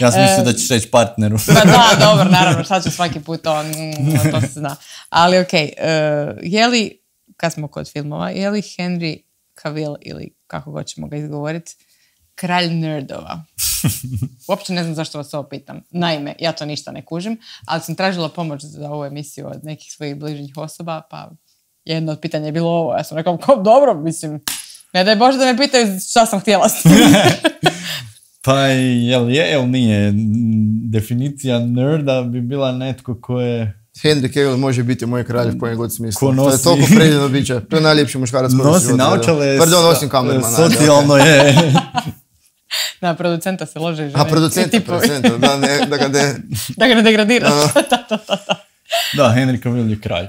Speaker 2: Ja sam mislio da ćeš reći partneru.
Speaker 1: Pa da, dobro, naravno, sad ću svaki put to se zna. Ali okej, je li, kad smo kod filmova, je li Henry Cavill, ili kako god ćemo ga izgovoriti, kralj nerdova? Uopće ne znam zašto vas ovo pitam. Naime, ja to ništa ne kužim, ali sam tražila pomoć za ovu emisiju od nekih svojih bližnjih osoba, pa jedno od pitanja je bilo ovo. Ja sam rekao, dobro, mislim... Ne daj Bože da me pitaju šta sam htjela.
Speaker 2: Pa jel nije? Definicija nerda bi bila netko ko je...
Speaker 3: Henry Cavill može biti moj kralj u kojem god smislu. To je toliko predivno biće. To je najljepši muškarac koji
Speaker 2: nosi naočale.
Speaker 3: Pardon, nosim kamerman.
Speaker 2: Socijalno je.
Speaker 1: Na producenta se lože žene.
Speaker 3: A producenta,
Speaker 1: da ga ne degradira.
Speaker 2: Da, Henry Cavill je kralj.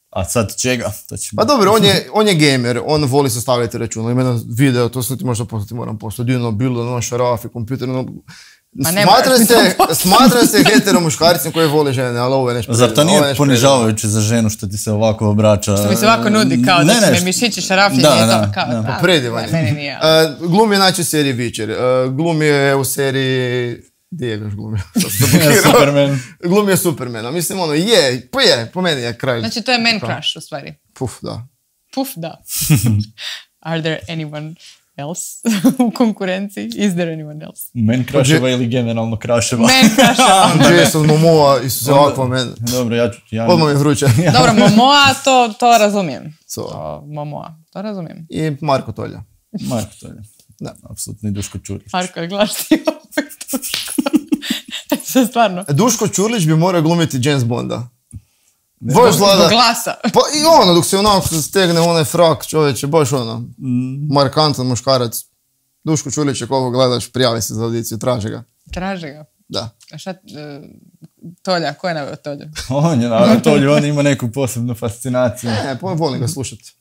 Speaker 2: A sad čega?
Speaker 3: Pa dobro, on je gamer, on voli sastavljati računa. Ima jedan video, to sam ti možda poslati, moram poslati. Bilo, šarafi, kompjuter,
Speaker 1: Ma ne moraš mi to
Speaker 3: Smatram se heteromuškarcem koji vole žene, ali ovo je nešto...
Speaker 2: Zar to nije ponižavajuće za ženu što ti se ovako obraća?
Speaker 1: Što mi se ovako nudi kao da će me mišići šarafljenje i to kao...
Speaker 2: Da.
Speaker 3: Predivanje.
Speaker 1: Meni nije.
Speaker 3: Glumi je znači u seriji Witcher. Glumi je u seriji... Gdje je još glumio?
Speaker 2: Superman.
Speaker 3: Glumio Supermana. Mislim, ono, po meni je kraj.
Speaker 1: Znači, to je man crush, u stvari.
Speaker 3: Puf, da.
Speaker 1: Puf, da. Are there anyone else u konkurenciji? Is there anyone else?
Speaker 2: Man crusheva ili generalno crusheva?
Speaker 1: Man crusheva.
Speaker 3: Jason Momoa i sve ovako men.
Speaker 2: Dobro, ja...
Speaker 3: Odmah mi je vruće.
Speaker 1: Dobro, Momoa, to razumijem.
Speaker 3: So.
Speaker 1: Momoa, to razumijem.
Speaker 3: I Marko Tolja.
Speaker 2: Marko Tolja.
Speaker 3: Da.
Speaker 2: Apsolutno i Duško Čurlić.
Speaker 1: Marko, gledaš ti opet Duško. Sve stvarno.
Speaker 3: Duško Čurlić bi morao glumiti James Bonda.
Speaker 1: Zbog glasa.
Speaker 3: Pa i ono, dok se onako stegne onaj frak, čovječe, baš ono, markantan muškarac. Duško Čurlić, koliko gledaš, prijavi se za audiciju, traži ga.
Speaker 1: Traži ga?
Speaker 3: Da.
Speaker 1: A šta, Tolja, ko je naveo Tolju?
Speaker 2: On je naveo Tolju, on ima neku posebnu fascinaciju.
Speaker 3: Ne, volim ga slušati.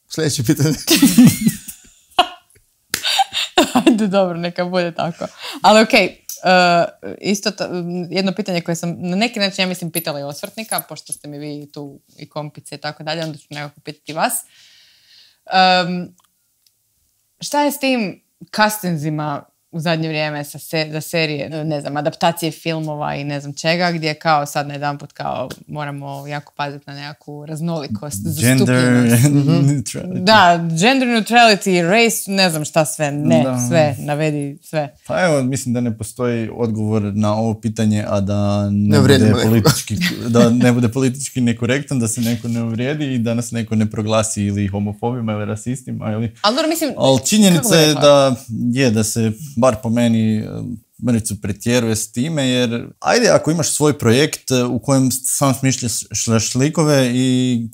Speaker 3: Sljedeće pitanje.
Speaker 1: Ajde, dobro, neka bude tako. Ali okej, jedno pitanje koje sam na neki način, ja mislim, pitala i osvrtnika, pošto ste mi vi tu i kompice i tako dalje, onda ću nekako pitati vas. Šta je s tim castingzima u zadnje vrijeme za serije, ne znam, adaptacije filmova i ne znam čega, gdje kao sad na jedanput kao moramo jako paziti na nekakvu raznolikost, zastupljenost. Da, gender neutrality, race, ne znam šta sve, sve, navedi sve.
Speaker 2: Pa evo, mislim da ne postoji odgovor na ovo pitanje, a da ne bude politički nekorektan, da se neko ne uvrijedi i da nas neko ne proglasi ili homofobima ili rasistima. Ali činjenica je da se bar po meni mrvicu pretjeruje s time, jer ajde ako imaš svoj projekt u kojem sam smišljaš likove i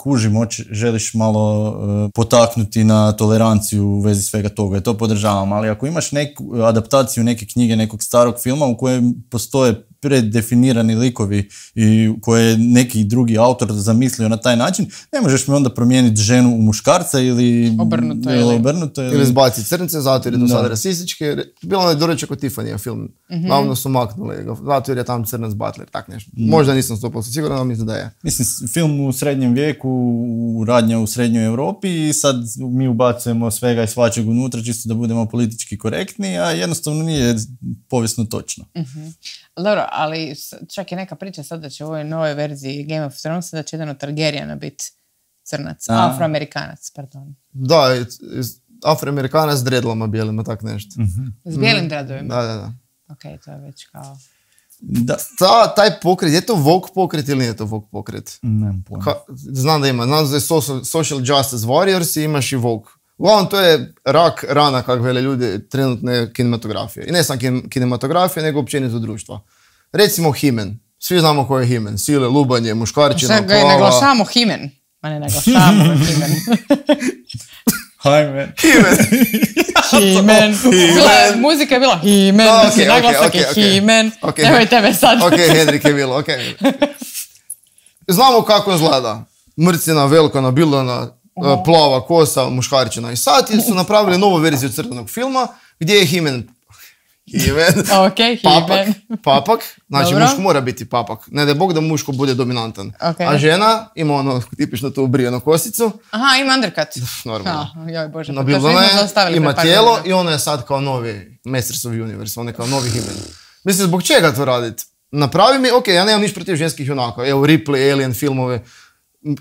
Speaker 2: želiš malo potaknuti na toleranciju u vezi svega toga, i to podržavam, ali ako imaš neku adaptaciju neke knjige, nekog starog filma u kojem postoje preddefinirani likovi i koje je neki drugi autor zamislio na taj način, ne možeš mi onda promijeniti ženu u muškarca ili obrnuto.
Speaker 3: Ili zbaciti crnice, zato jer je to sad rasistički. Bilo ono je doručak od Tiffany film. Glavno su maknuli, zato jer je tam crnac butler, tak nešto. Možda nisam 100% siguran, ali mislim da je.
Speaker 2: Mislim, film u srednjem vijeku, radnja u srednjoj Europi i sad mi ubacujemo svega i svačeg unutra čisto da budemo politički korektni, a jednostavno nije povijesno točno.
Speaker 1: Dobro, ali čak je neka priča sad da će u ovoj novoj verziji Game of Thrones da će jedan od Targaryena biti crnac, afroamerikanac, pardon.
Speaker 3: Da, afroamerikanac s dredlama bijelima, tak nešto.
Speaker 1: S bijelim dredovima?
Speaker 3: Da.
Speaker 1: Ok, to je već kao...
Speaker 3: Taj pokret, je to woke pokret ili nije to woke pokret?
Speaker 2: Nemam pojma.
Speaker 3: Znam da ima, znam da je Social Justice Warriors i imaš i woke. Uglavnom, to je rak rana, kako vele ljudi, trenutne kinematografije. I ne samo kinematografije, nego općenito društva. Recimo He-Man. Svi znamo ko je He-Man. Sile, lubanje, muškarčina,
Speaker 1: plava. Šta ga naglašavamo He-Man? Ma ne naglašavamo He-Man.
Speaker 2: He-Man.
Speaker 1: He-Man. Muzika je bila He-Man. Naglasak je He-Man. Nemoj tebe sad.
Speaker 3: Ok, Henrik je bilo, ok. Znamo kako izgleda. Mrcina, velika, nabilana, plava kosa, muškarčina. I sad su napravili novu verziju crtanog filma gdje je He-Man.
Speaker 1: Ok, He-Man.
Speaker 3: Papak. Znači, muško mora biti papak. Ne da je Bog da muško bude dominantan.
Speaker 1: Okay.
Speaker 3: A žena ima ono tipično tu ubrijenu kosicu.
Speaker 1: Aha, ima undercut.
Speaker 3: Normalno.
Speaker 1: Joj Bože,
Speaker 3: nabilana je, ima tijelo i ona je sad kao novi Masters of Universe. On je kao novi He-Man. Mislim, zbog čega to raditi? Napravi mi, ok, ja nemam niš protiv ženskih junaka. Evo, Ripley, Alien filmove.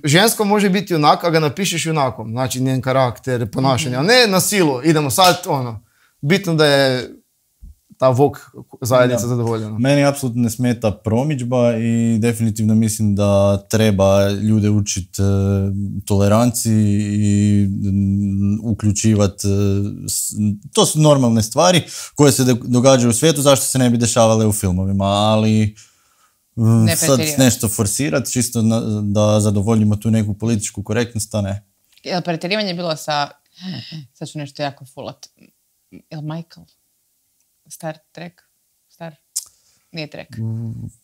Speaker 3: Žensko može biti junak, a ga napišeš junakom. Znači, njen karakter, ponašanje. A ne na silu. Idemo sad, bitno da je ta woke zajednica zadovoljena.
Speaker 2: Meni apsolutno ne smeta promidžba i definitivno mislim da treba ljude učiti toleranciji i uključivati. To su normalne stvari koje se događaju u svijetu, zašto se ne bi dešavale u filmovima, ali sad nešto forsirati čisto da zadovoljimo tu neku političku korektnost, a ne.
Speaker 1: Jel pretjerivanje bilo sa, sad ću nešto jako fulat, jel Michael? Star Trek? Nije Trek.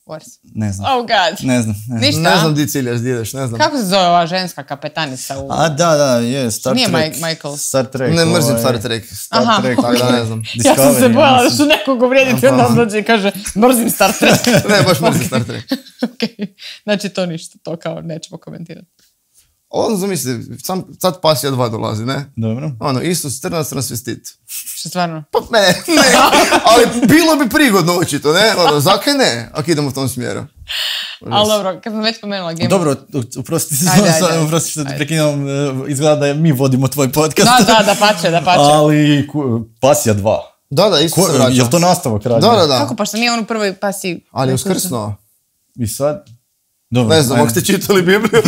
Speaker 1: Wars.
Speaker 2: Ne znam.
Speaker 1: Oh god.
Speaker 2: Ne znam.
Speaker 1: Ništa?
Speaker 3: Ne znam di ciljaš, di ideš, ne znam.
Speaker 1: Kako se zove ova ženska kapetanica u...
Speaker 2: Da, je, Star
Speaker 1: Nije
Speaker 2: Trek.
Speaker 1: Michael.
Speaker 2: Star Trek.
Speaker 3: Ne mrzim Star Trek.
Speaker 1: Aha,
Speaker 2: Trek,
Speaker 3: tako da ne znam.
Speaker 1: Ja sam se
Speaker 2: Discovery,
Speaker 1: bojala da
Speaker 2: mislim.
Speaker 1: ću nekog uvrijediti, onda on dođe i kaže mrzim Star Trek.
Speaker 3: Ne, baš mrzim Star Trek.
Speaker 1: Ok, znači to ništa, to kao nećemo komentirati.
Speaker 3: Ono zamisli, sad Pasija 2 dolazi, ne?
Speaker 2: Dobro.
Speaker 3: Ono, Isus, trnac, transvestit.
Speaker 1: Što stvarno?
Speaker 3: Pa ne, ali bilo bi prigodno očito, ne? Ono, zakaj ne, ako idemo u tom smjeru.
Speaker 1: Ali dobro, kad sam već spomenula Game
Speaker 2: Dobro, oprosti
Speaker 1: Ajde.
Speaker 2: što te prekinam, izgleda da mi vodimo tvoj podcast.
Speaker 1: Da pače.
Speaker 2: Ali Pasija 2.
Speaker 3: Da, Isus se vraća.
Speaker 2: Je li to nastavak radi?
Speaker 3: Da.
Speaker 1: Kako, pa što nije on u prvoj pasiji...
Speaker 3: Ali je uskrsnuo.
Speaker 2: I sad? Dobro,
Speaker 3: Ne znam,
Speaker 2: ajde.
Speaker 3: ako ste čitali Bibliju,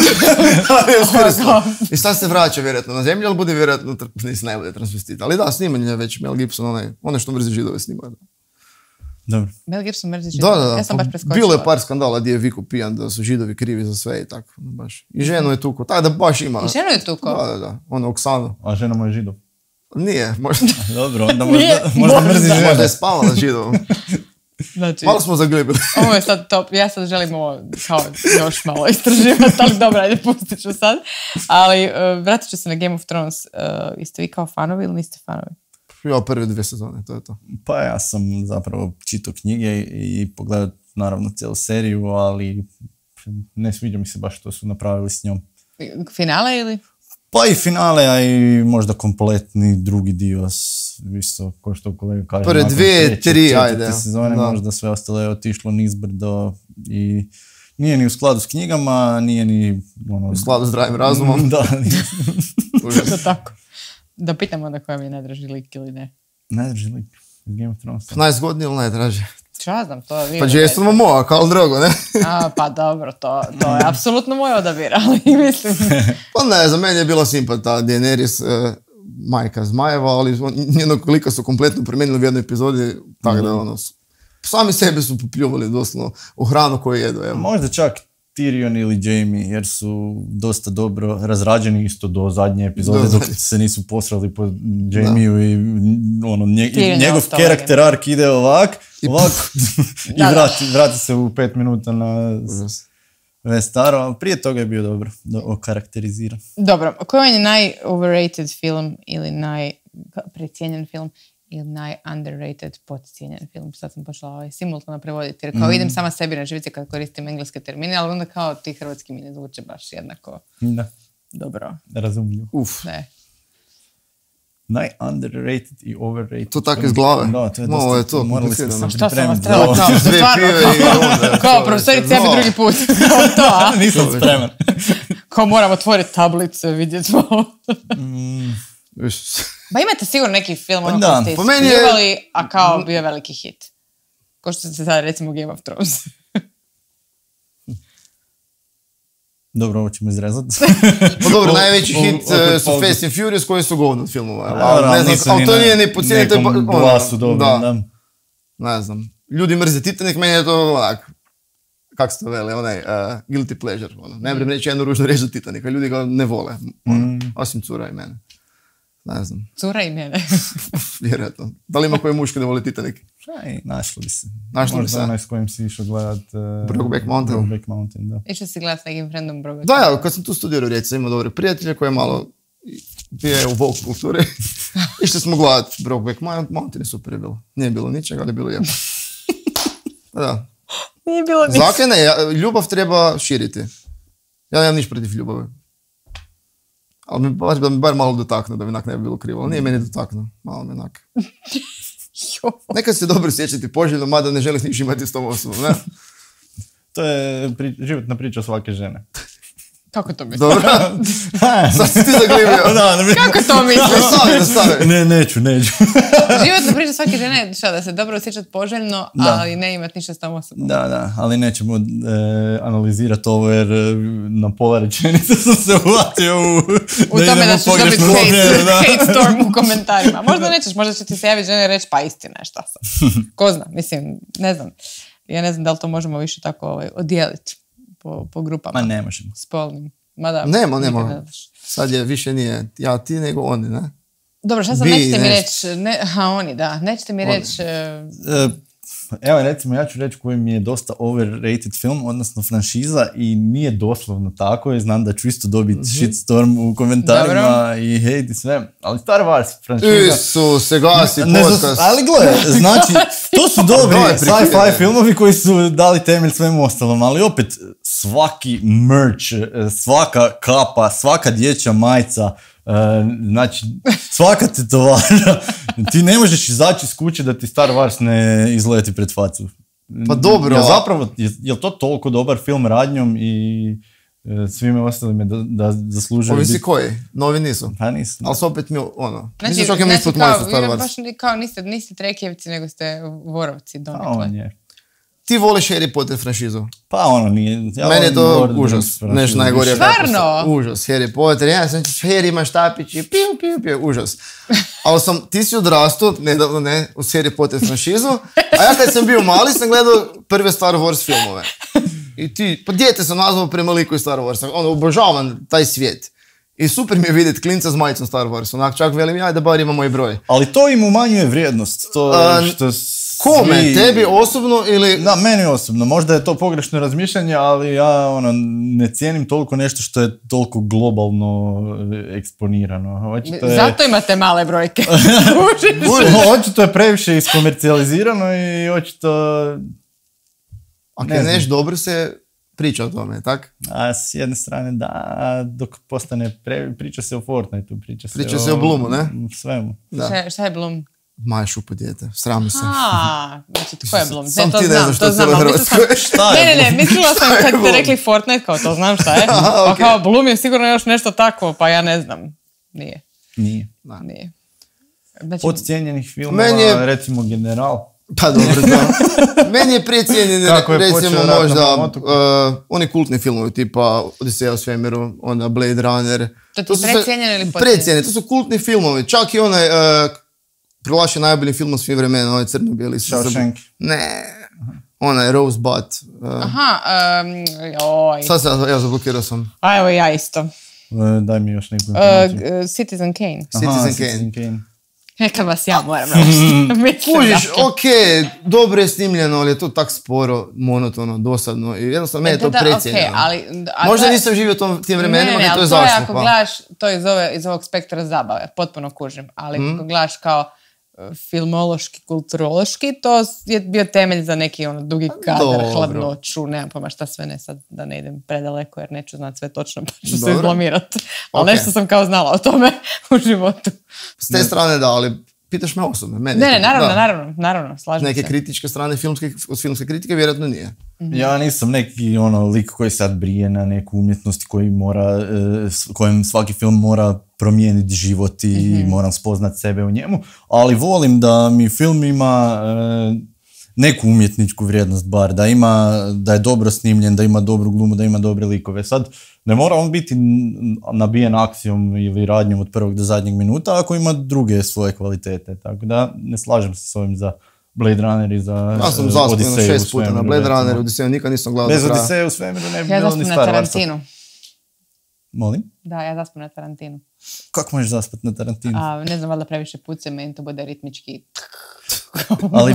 Speaker 3: ali je uskrsnuo. I sad se vraća vjerojatno na zemlju, ali bude vjerojatno, ne bude transvestit. Ali da, snimanje je već Mel Gibson, onaj što mrzi Židove snima.
Speaker 2: Dobro.
Speaker 1: Mel Gibson mrzi
Speaker 3: Da.
Speaker 1: Ja sam baš preskočila.
Speaker 3: Bilo je par skandala gdje je Viku pijan da su Židovi krivi za sve i tako. Baš. I ženu je tuko. Tako da baš ima.
Speaker 1: I ženu je tuko?
Speaker 3: Da. Ono, Oksanu.
Speaker 2: A žena mu je Židov.
Speaker 3: Nije, možda.
Speaker 2: Dobro, onda
Speaker 1: Nije,
Speaker 2: možda
Speaker 1: možda.
Speaker 2: mrzi žene.
Speaker 3: Možda je spavala Židovom.
Speaker 1: Znači,
Speaker 3: Malo smo zaglibili.
Speaker 1: ovo je sad top. Ja sad želim ovo kao još malo istraživati, ali dobro, ajde, pustit ću sad. Ali vratit ću se na Game of Thrones. Jeste vi kao fanovi ili niste fanovi?
Speaker 3: Ja prve 2 sezone, to je to.
Speaker 2: Pa ja sam zapravo čitao knjige i pogledao naravno cijelu seriju, ali ne sviđa mi se baš što su napravili s njom.
Speaker 1: Finale ili?
Speaker 2: Pa i finale, a i možda kompletni drugi dio, isto ko što kolega kaže.
Speaker 3: Prve
Speaker 2: nakon
Speaker 3: 2,
Speaker 2: treće,
Speaker 3: 3,
Speaker 2: četvrte
Speaker 3: ajde.
Speaker 2: sezone,
Speaker 3: Da.
Speaker 2: možda sve ostalo je otišlo nizbrdo i nije ni u skladu s knjigama, nije ni... Ono,
Speaker 3: U skladu s zdravim razumom.
Speaker 2: Da,
Speaker 1: To tako. Da pitam onda koja mi je najdraži lik ili ne.
Speaker 2: najdraži lik iz Game of Thronesa.
Speaker 3: Najzgodniji ili najdraži?
Speaker 1: Čo ja znam, to vi...
Speaker 3: Pa Jason Momoa, kao drogo, ne?
Speaker 1: Pa dobro, to je apsolutno moj odabir, ali mislim...
Speaker 3: Pa ne, za mene je bila simpata Daenerys, majka zmajeva, ali njenog lika su kompletno promijenili u jednoj epizodi, tako da ono, sami sebe su popljuvali doslovno u hranu koju jedu. Evo.
Speaker 2: Možda čak Tyrion ili Jaime, jer su dosta dobro razrađeni isto do zadnje epizode,
Speaker 3: Do
Speaker 2: dok
Speaker 3: zadnje.
Speaker 2: se nisu posrali po Jaimeu i ono,
Speaker 1: Tyrion je
Speaker 2: njegov
Speaker 1: ostao
Speaker 2: karakter arc ide ovak i
Speaker 1: Da.
Speaker 2: vrati se u 5 minuta na
Speaker 3: Užas.
Speaker 2: Vestaro, ali prije toga je bio dobro okarakteriziran.
Speaker 1: Dobro, koji je naj-overrated film ili precijenjen film ili naj-underrated podcijenjen film? Sad sam počela simultano prevoditi, jer kao idem sama sebi na živice kad koristim engleske termine, ali onda kao ti hrvatski mi ne zvuče baš jednako
Speaker 2: Da,
Speaker 1: dobro.
Speaker 2: razumljivo.
Speaker 1: Ne.
Speaker 2: Naj-underrated i overrated.
Speaker 3: To tako iz glave?
Speaker 2: Da, to je
Speaker 3: Malo
Speaker 2: dosta,
Speaker 3: je to
Speaker 2: morali ste
Speaker 3: komplicirano.
Speaker 2: se
Speaker 1: Šta sam vas
Speaker 2: pripremiti.
Speaker 1: trebala kao,
Speaker 3: Dvije
Speaker 1: stvarno,
Speaker 3: pive i onda...
Speaker 1: kao profesorica, ja bi drugi put. Kao to, a?
Speaker 2: Nisam spreman.
Speaker 1: Kao moram otvoriti tablicu, vidjeti malo. Ba imate sigurno neki film ono
Speaker 2: Da,
Speaker 1: koji ste
Speaker 3: po meni je-
Speaker 1: ispljuvali, a kao bio veliki hit. Ko što se sad recimo Game of Thrones.
Speaker 2: Dobro, ovo ćemo izrezati.
Speaker 3: Pa dobro, najveći hit
Speaker 2: opet
Speaker 3: su
Speaker 2: pauza.
Speaker 3: Fast and Furious koji su govno od filmova.
Speaker 2: Dobro,
Speaker 3: Ne znam,
Speaker 2: nisu
Speaker 3: ali
Speaker 2: ni
Speaker 3: to
Speaker 2: na
Speaker 3: nije ni po cijeni, to je...
Speaker 2: nekom
Speaker 3: ono,
Speaker 2: glasu dobro, da.
Speaker 3: Ne znam. Ljudi mrze Titanic, meni je to onak... Kak se to vele, onaj guilty pleasure. Ono. Ne vrem reći jednu ružnu reč za Titanica, ljudi ga ne vole. Ono, osim cura i mene. Ne znam,
Speaker 1: Cura i mene.
Speaker 3: vjerojatno. Da li ima koji muški da voli Titanic?
Speaker 2: Aj, našlo bi se.
Speaker 3: Našlo bi
Speaker 2: Možda
Speaker 3: se.
Speaker 2: onaj s kojim si išao gledat...
Speaker 3: Brokeback Mountain.
Speaker 2: Brokeback Mountain, da.
Speaker 1: Išao si gledat s nekim friendom Broga.
Speaker 3: Da, ja, kad sam tu studirao Rijeci, sam imao dobre prijatelje koji je malo bio je u Vogue kulturi. Išli smo gledat Brokeback Mountain je super je bilo. Nije bilo ničega, ali je bilo lijepo. Da.
Speaker 1: Nije bilo ništa.
Speaker 3: Zakaj ne? Ljubav treba širiti. Ja nemam niš protiv ljubavi. Ali da mi bar malo dotakne, da mi onak ne bi bilo krivo. Ali nije meni dotaknuo. Malo mi onak. Nekad se dobro sjećati poželjno, mada ne želiš niš imati s tom osobom, ne?
Speaker 2: To je životna priča svake žene.
Speaker 1: Kako to misliš?
Speaker 3: Dobro? Sad si ti zaglibio.
Speaker 1: Kako to misliš?
Speaker 3: Nastavi.
Speaker 2: Neću.
Speaker 1: Životna priča svake žene je šta, da se dobro osjećati poželjno,
Speaker 2: Da.
Speaker 1: ali ne imati ništa s tom osobom.
Speaker 2: Da, ali nećemo analizirati ovo jer na pola rečenice sam se uvatio
Speaker 1: U tome da ćeš dobiti
Speaker 2: smjeru, da.
Speaker 1: hate storm u komentarima. Možda nećeš, možda će ti se javiti žene i reći pa istina je šta sam. Ko zna, mislim, ne znam. Ja ne znam da li to možemo više tako odijeliti po grupama.
Speaker 2: Ma ne možemo.
Speaker 1: Spolnim. Mada,
Speaker 3: Nema.
Speaker 1: nikad ne znaš.
Speaker 3: Sad je više nije ja ti nego oni, ne?
Speaker 1: Dobro, šta sad
Speaker 3: Bi
Speaker 1: nećete mi
Speaker 3: nešto.
Speaker 1: reći, oni da, nećete mi reći
Speaker 2: Evo recimo ja ću reći koji mi je dosta overrated film, odnosno franšiza i nije doslovno tako i znam da ću isto dobiti shitstorm u komentarima i hate i sve, ali Star Wars franšiza...
Speaker 3: Se gasi podcast.
Speaker 2: Ali gle, znači to su dobri sci-fi filmovi koji su dali temelj svemu ostalom, ali opet svaki merch, svaka kapa, svaka dječja majica, znači svaka tetovara, ti ne možeš izaći iz kuće da ti Star Wars ne izleti pred facu.
Speaker 3: Pa dobro.
Speaker 2: Je to toliko dobar film radnjom i svime ostalime da zaslužuje
Speaker 3: Ovisi koji? Novi nisu.
Speaker 2: Pa nisu.
Speaker 3: Ali su opet mi, ono,
Speaker 1: Znači,
Speaker 3: mislim čak ima ispod moji su Star Wars.
Speaker 1: Baš kao niste trekjevci, nego ste vorovci donekle.
Speaker 2: On je.
Speaker 3: Ti voliš Harry Potter franšizu?
Speaker 2: Pa ono nije...
Speaker 3: Meni je to užas. Nešto najgorije.
Speaker 1: Stvarno?
Speaker 3: Užas. Harry Potter. Ja sam Harry ima štapić i piu. Užas. Ali ti si odrastao, nedavno ne, u Harry Potter franšizu. A ja kad sam bio mali sam gledao prve Star Wars filmove. I ti, pa dijete sam nazvao prema liku iz Star Warsa. Ono, obožavam taj svijet. I super mi je vidjeti klinca s majicom Star Wars. Onak čak velim ja da bar ima moj broj.
Speaker 2: Ali to im umanjuje vrijednost. To što
Speaker 3: kome? Tebi osobno ili...
Speaker 2: Da, meni osobno. Možda je to pogrešno razmišljanje, ali ja ne cijenim toliko nešto što je toliko globalno eksponirano.
Speaker 1: Zato imate male brojke.
Speaker 2: Očito je previše iskomercijalizirano i očito...
Speaker 3: Ako je nešto dobro se priča o tome, tak?
Speaker 2: A s jedne strane da, dok postane priča se o Fortniteu, priča
Speaker 3: se o Bloomu, ne?
Speaker 2: Svemu.
Speaker 1: Da. Šta je Bloom?
Speaker 3: Maja šupa dijete, srami se.
Speaker 1: Znači tko je Bloom?
Speaker 3: Sam ti ne znaš što je cijelo Hrvatskoj.
Speaker 1: Ne, mislila sam kad ste rekli Fortnite, kao to znam šta je. Pa kao Bloom je sigurno još nešto takvo, pa ja ne znam. Nije. Znači,
Speaker 2: od cijenjenih filmova, recimo General.
Speaker 3: Pa dobro, da. Meni je precijenjen, recimo možda oni kultni filmovi tipa Odiseja u svemiru, onda Blade Runner.
Speaker 1: To ti precijenjen ili podcijenjen?
Speaker 3: Precijenjen, to su kultni filmovi. Čak i onaj proglašen najboljim filmom svih vremena, onaj crno-bijeli.
Speaker 2: Shawshank.
Speaker 3: Ne, onaj Rosebud. Sad ja zablokirao sam.
Speaker 1: A evo ja isto.
Speaker 2: Daj mi još neku informaciju.
Speaker 1: Citizen Kane.
Speaker 3: Citizen Kane.
Speaker 1: Kad vas ja moram reći.
Speaker 3: Kužiš, okej, dobro je snimljeno, ali je to tak sporo, monotono, dosadno i jednostavno meni je to precijenjeno. Možda nisam živio tim vremenima, ali to je zašlo.
Speaker 1: Ako gledaš to iz ovog spektra zabave, potpuno kužim, ali ako gledaš kao filmološki, kulturološki, to je bio temelj za neki dugi kadar, hladnoću, nemam pojma šta sve, ne sad da ne idem predaleko jer neću znati sve točno pa ću se izblamirati. Ali nešto sam kao znala o tome u životu.
Speaker 3: S te strane da, ali pitaš me osobno.
Speaker 1: Ne, naravno, slažem se.
Speaker 3: Neke kritičke strane od filmske kritike vjerojatno nije.
Speaker 2: Ja nisam neki lik koji sad brije na neku umjetnost kojem svaki film mora promijeniti život i moram spoznat sebe u njemu, ali volim da mi film ima neku umjetničku vrijednost bar, da je dobro snimljen, da ima dobru glumu, da ima dobre likove. Sad, ne mora on biti nabijen akcijom ili radnjom od prvog do zadnjeg minuta ako ima druge svoje kvalitete, tako da ne slažem se s ovim za Blade Runner i za Odiseju.
Speaker 3: Ja sam zaspao 6 puta na Blade Runner, Odiseju nikad nisam gledao do kraja.
Speaker 2: Bez Odiseju u svemiru ne bi bilo ni Star Warsa.
Speaker 1: Ja zaspam na Tarantinu.
Speaker 2: Molim?
Speaker 1: Da, ja zaspam na Tarantinu.
Speaker 2: Kako možeš zaspati na Tarantinu?
Speaker 1: Ne znam, valjda previše puce, meni to bude ritmički.
Speaker 2: Ali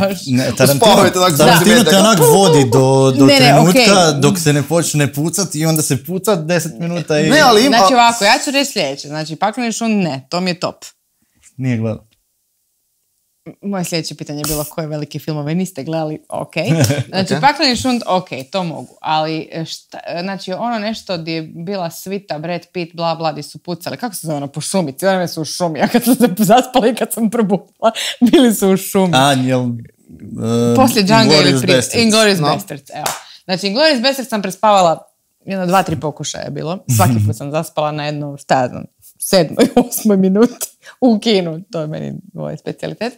Speaker 2: Tarantino te onak vodi do trenutka dok se ne počne pucati i onda se puca 10 minuta i...
Speaker 1: Znači ovako, ja ću reći sljedeće. Znači, Pakleni šund ne, to mi je top.
Speaker 2: Nije gledao.
Speaker 1: Moje sljedeće pitanje je bilo koje velike filmove niste gledali, ok. Znači, Pakleni šund, ok, to mogu. Ali, znači, ono nešto gdje je bila svita, Brad Pitt, bla, bla, gdje su pucali. Kako se zove ono, po šumi? Cijelo vreme su u šumi. Ja kad sam se zaspala i kad sam probudila, bili su u šumi. Poslije Django ili prije. Inglourious Basterds, evo. Znači, Inglourious Basterds sam prespavala 2-3 pokušaja je bilo. Svaki put sam zaspala na jednu, 7. 8. minuti u kinu. To je meni moj specijalitet.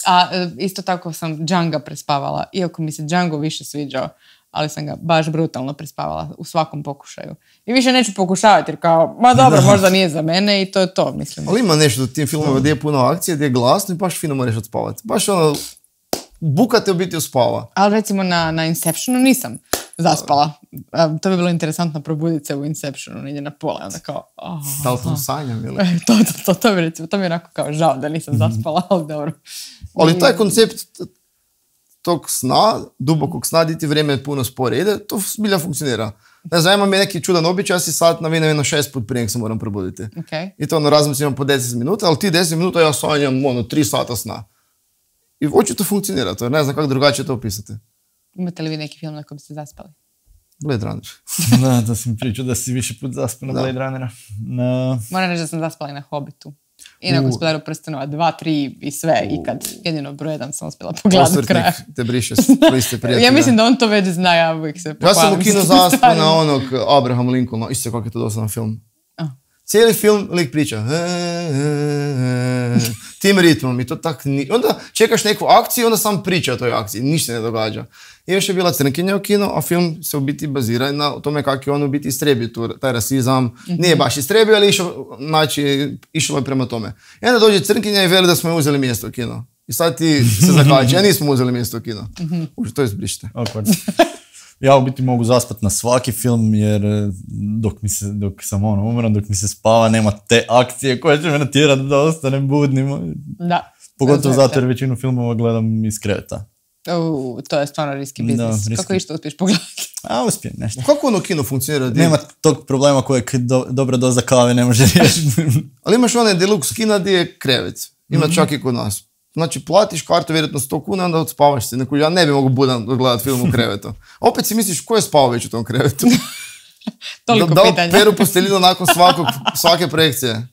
Speaker 1: A isto tako sam Django prespavala. Iako mi se Django više sviđao, ali sam ga baš brutalno prespavala u svakom pokušaju. I više neću pokušavati jer kao, ma dobro, možda nije za mene i to je to, mislim.
Speaker 3: Ali ima nešto u tim filmovima gdje je puno akcije, gdje je glasno i baš fino moraš odspavati. Baš ono, buka te u biti uspava. Ali
Speaker 1: recimo na Inceptionu nisam zaspala. To bi bilo interesantno probuditi se u Inceptionu, negdje na pola. Onda kao...
Speaker 3: Da li sam sanjam ili?
Speaker 1: To mi je onako kao žao da nisam zaspala, ali dobro.
Speaker 3: Ali taj koncept tog sna, dubokog sna, di ti vrijeme puno spore ide, to zbilja funkcionira. Ne znam, imam neki čudan običaj, ja si sat navinem jedno 6 put prije nek se moram probuditi.
Speaker 1: Okay.
Speaker 3: I to razmislim po 10 minuta, ali ti 10 minuta ja sanjam 3 sata sna. I očito funkcionira to, ne znam kako drugačije to opisati.
Speaker 1: Imate li vi neki film na kojem ste zaspali?
Speaker 3: Blade Runner.
Speaker 2: Da, to sam pričao da si više put zaspao na Blade Runnera.
Speaker 1: Moram reći da sam zaspala i na Hobbitu. I na Gospodaru prstenova, 2, 3 i sve ikad. Jedino broj 1 sam uspjela pogledati do kraja.
Speaker 3: Te briše liste prijatelja.
Speaker 1: Ja mislim da on to već zna, ja uvijek se pohvalim.
Speaker 3: Ja sam u kino zaspao na onog Abraham Lincolna, isto kako je to dosadan film. Cijeli film lik priča. Tim ritmom i to tak onda čekaš neku akciju, onda sam priča o toj akciji, ništa ne događa. I još je bila crnkinja u kino, a film se u biti bazira na tome kako je on u biti istrebio taj rasizam. Nije baš istrebio, ali išlo je prema tome. I onda dođe crnkinja i veli da smo je uzeli mjesto u kino. I sad ti se zakači, ja nismo uzeli mjesto u kino. To izbrišite.
Speaker 2: Ja u biti mogu zaspati na svaki film jer dok sam umoran, dok mi se spava, nema te akcije koje će me natjerati da ostanem budnim.
Speaker 1: Da.
Speaker 2: Pogotovo zato jer većinu filmova gledam iz kreveta.
Speaker 1: To je stvarno riski biznis. Da, kako išto uspiješ pogledati?
Speaker 2: Uspijem nešto.
Speaker 3: Kako ono kino funkcionira?
Speaker 2: Nema tog problema kojeg dobra doza kave ne može riješiti.
Speaker 3: Ali imaš onaj deluxe kina gdje je krevet. Ima čak i kod nas. Znači, platiš kartu vjerojatno 100 kuna, onda odspavaš se. Ja ne bi mogu budan odgledati film u krevetu. Opet si misliš, ko je spavao već u tom krevetu?
Speaker 1: Toliko
Speaker 3: da
Speaker 1: pitanja.
Speaker 3: Da peru posteljinu nakon svake projekcije.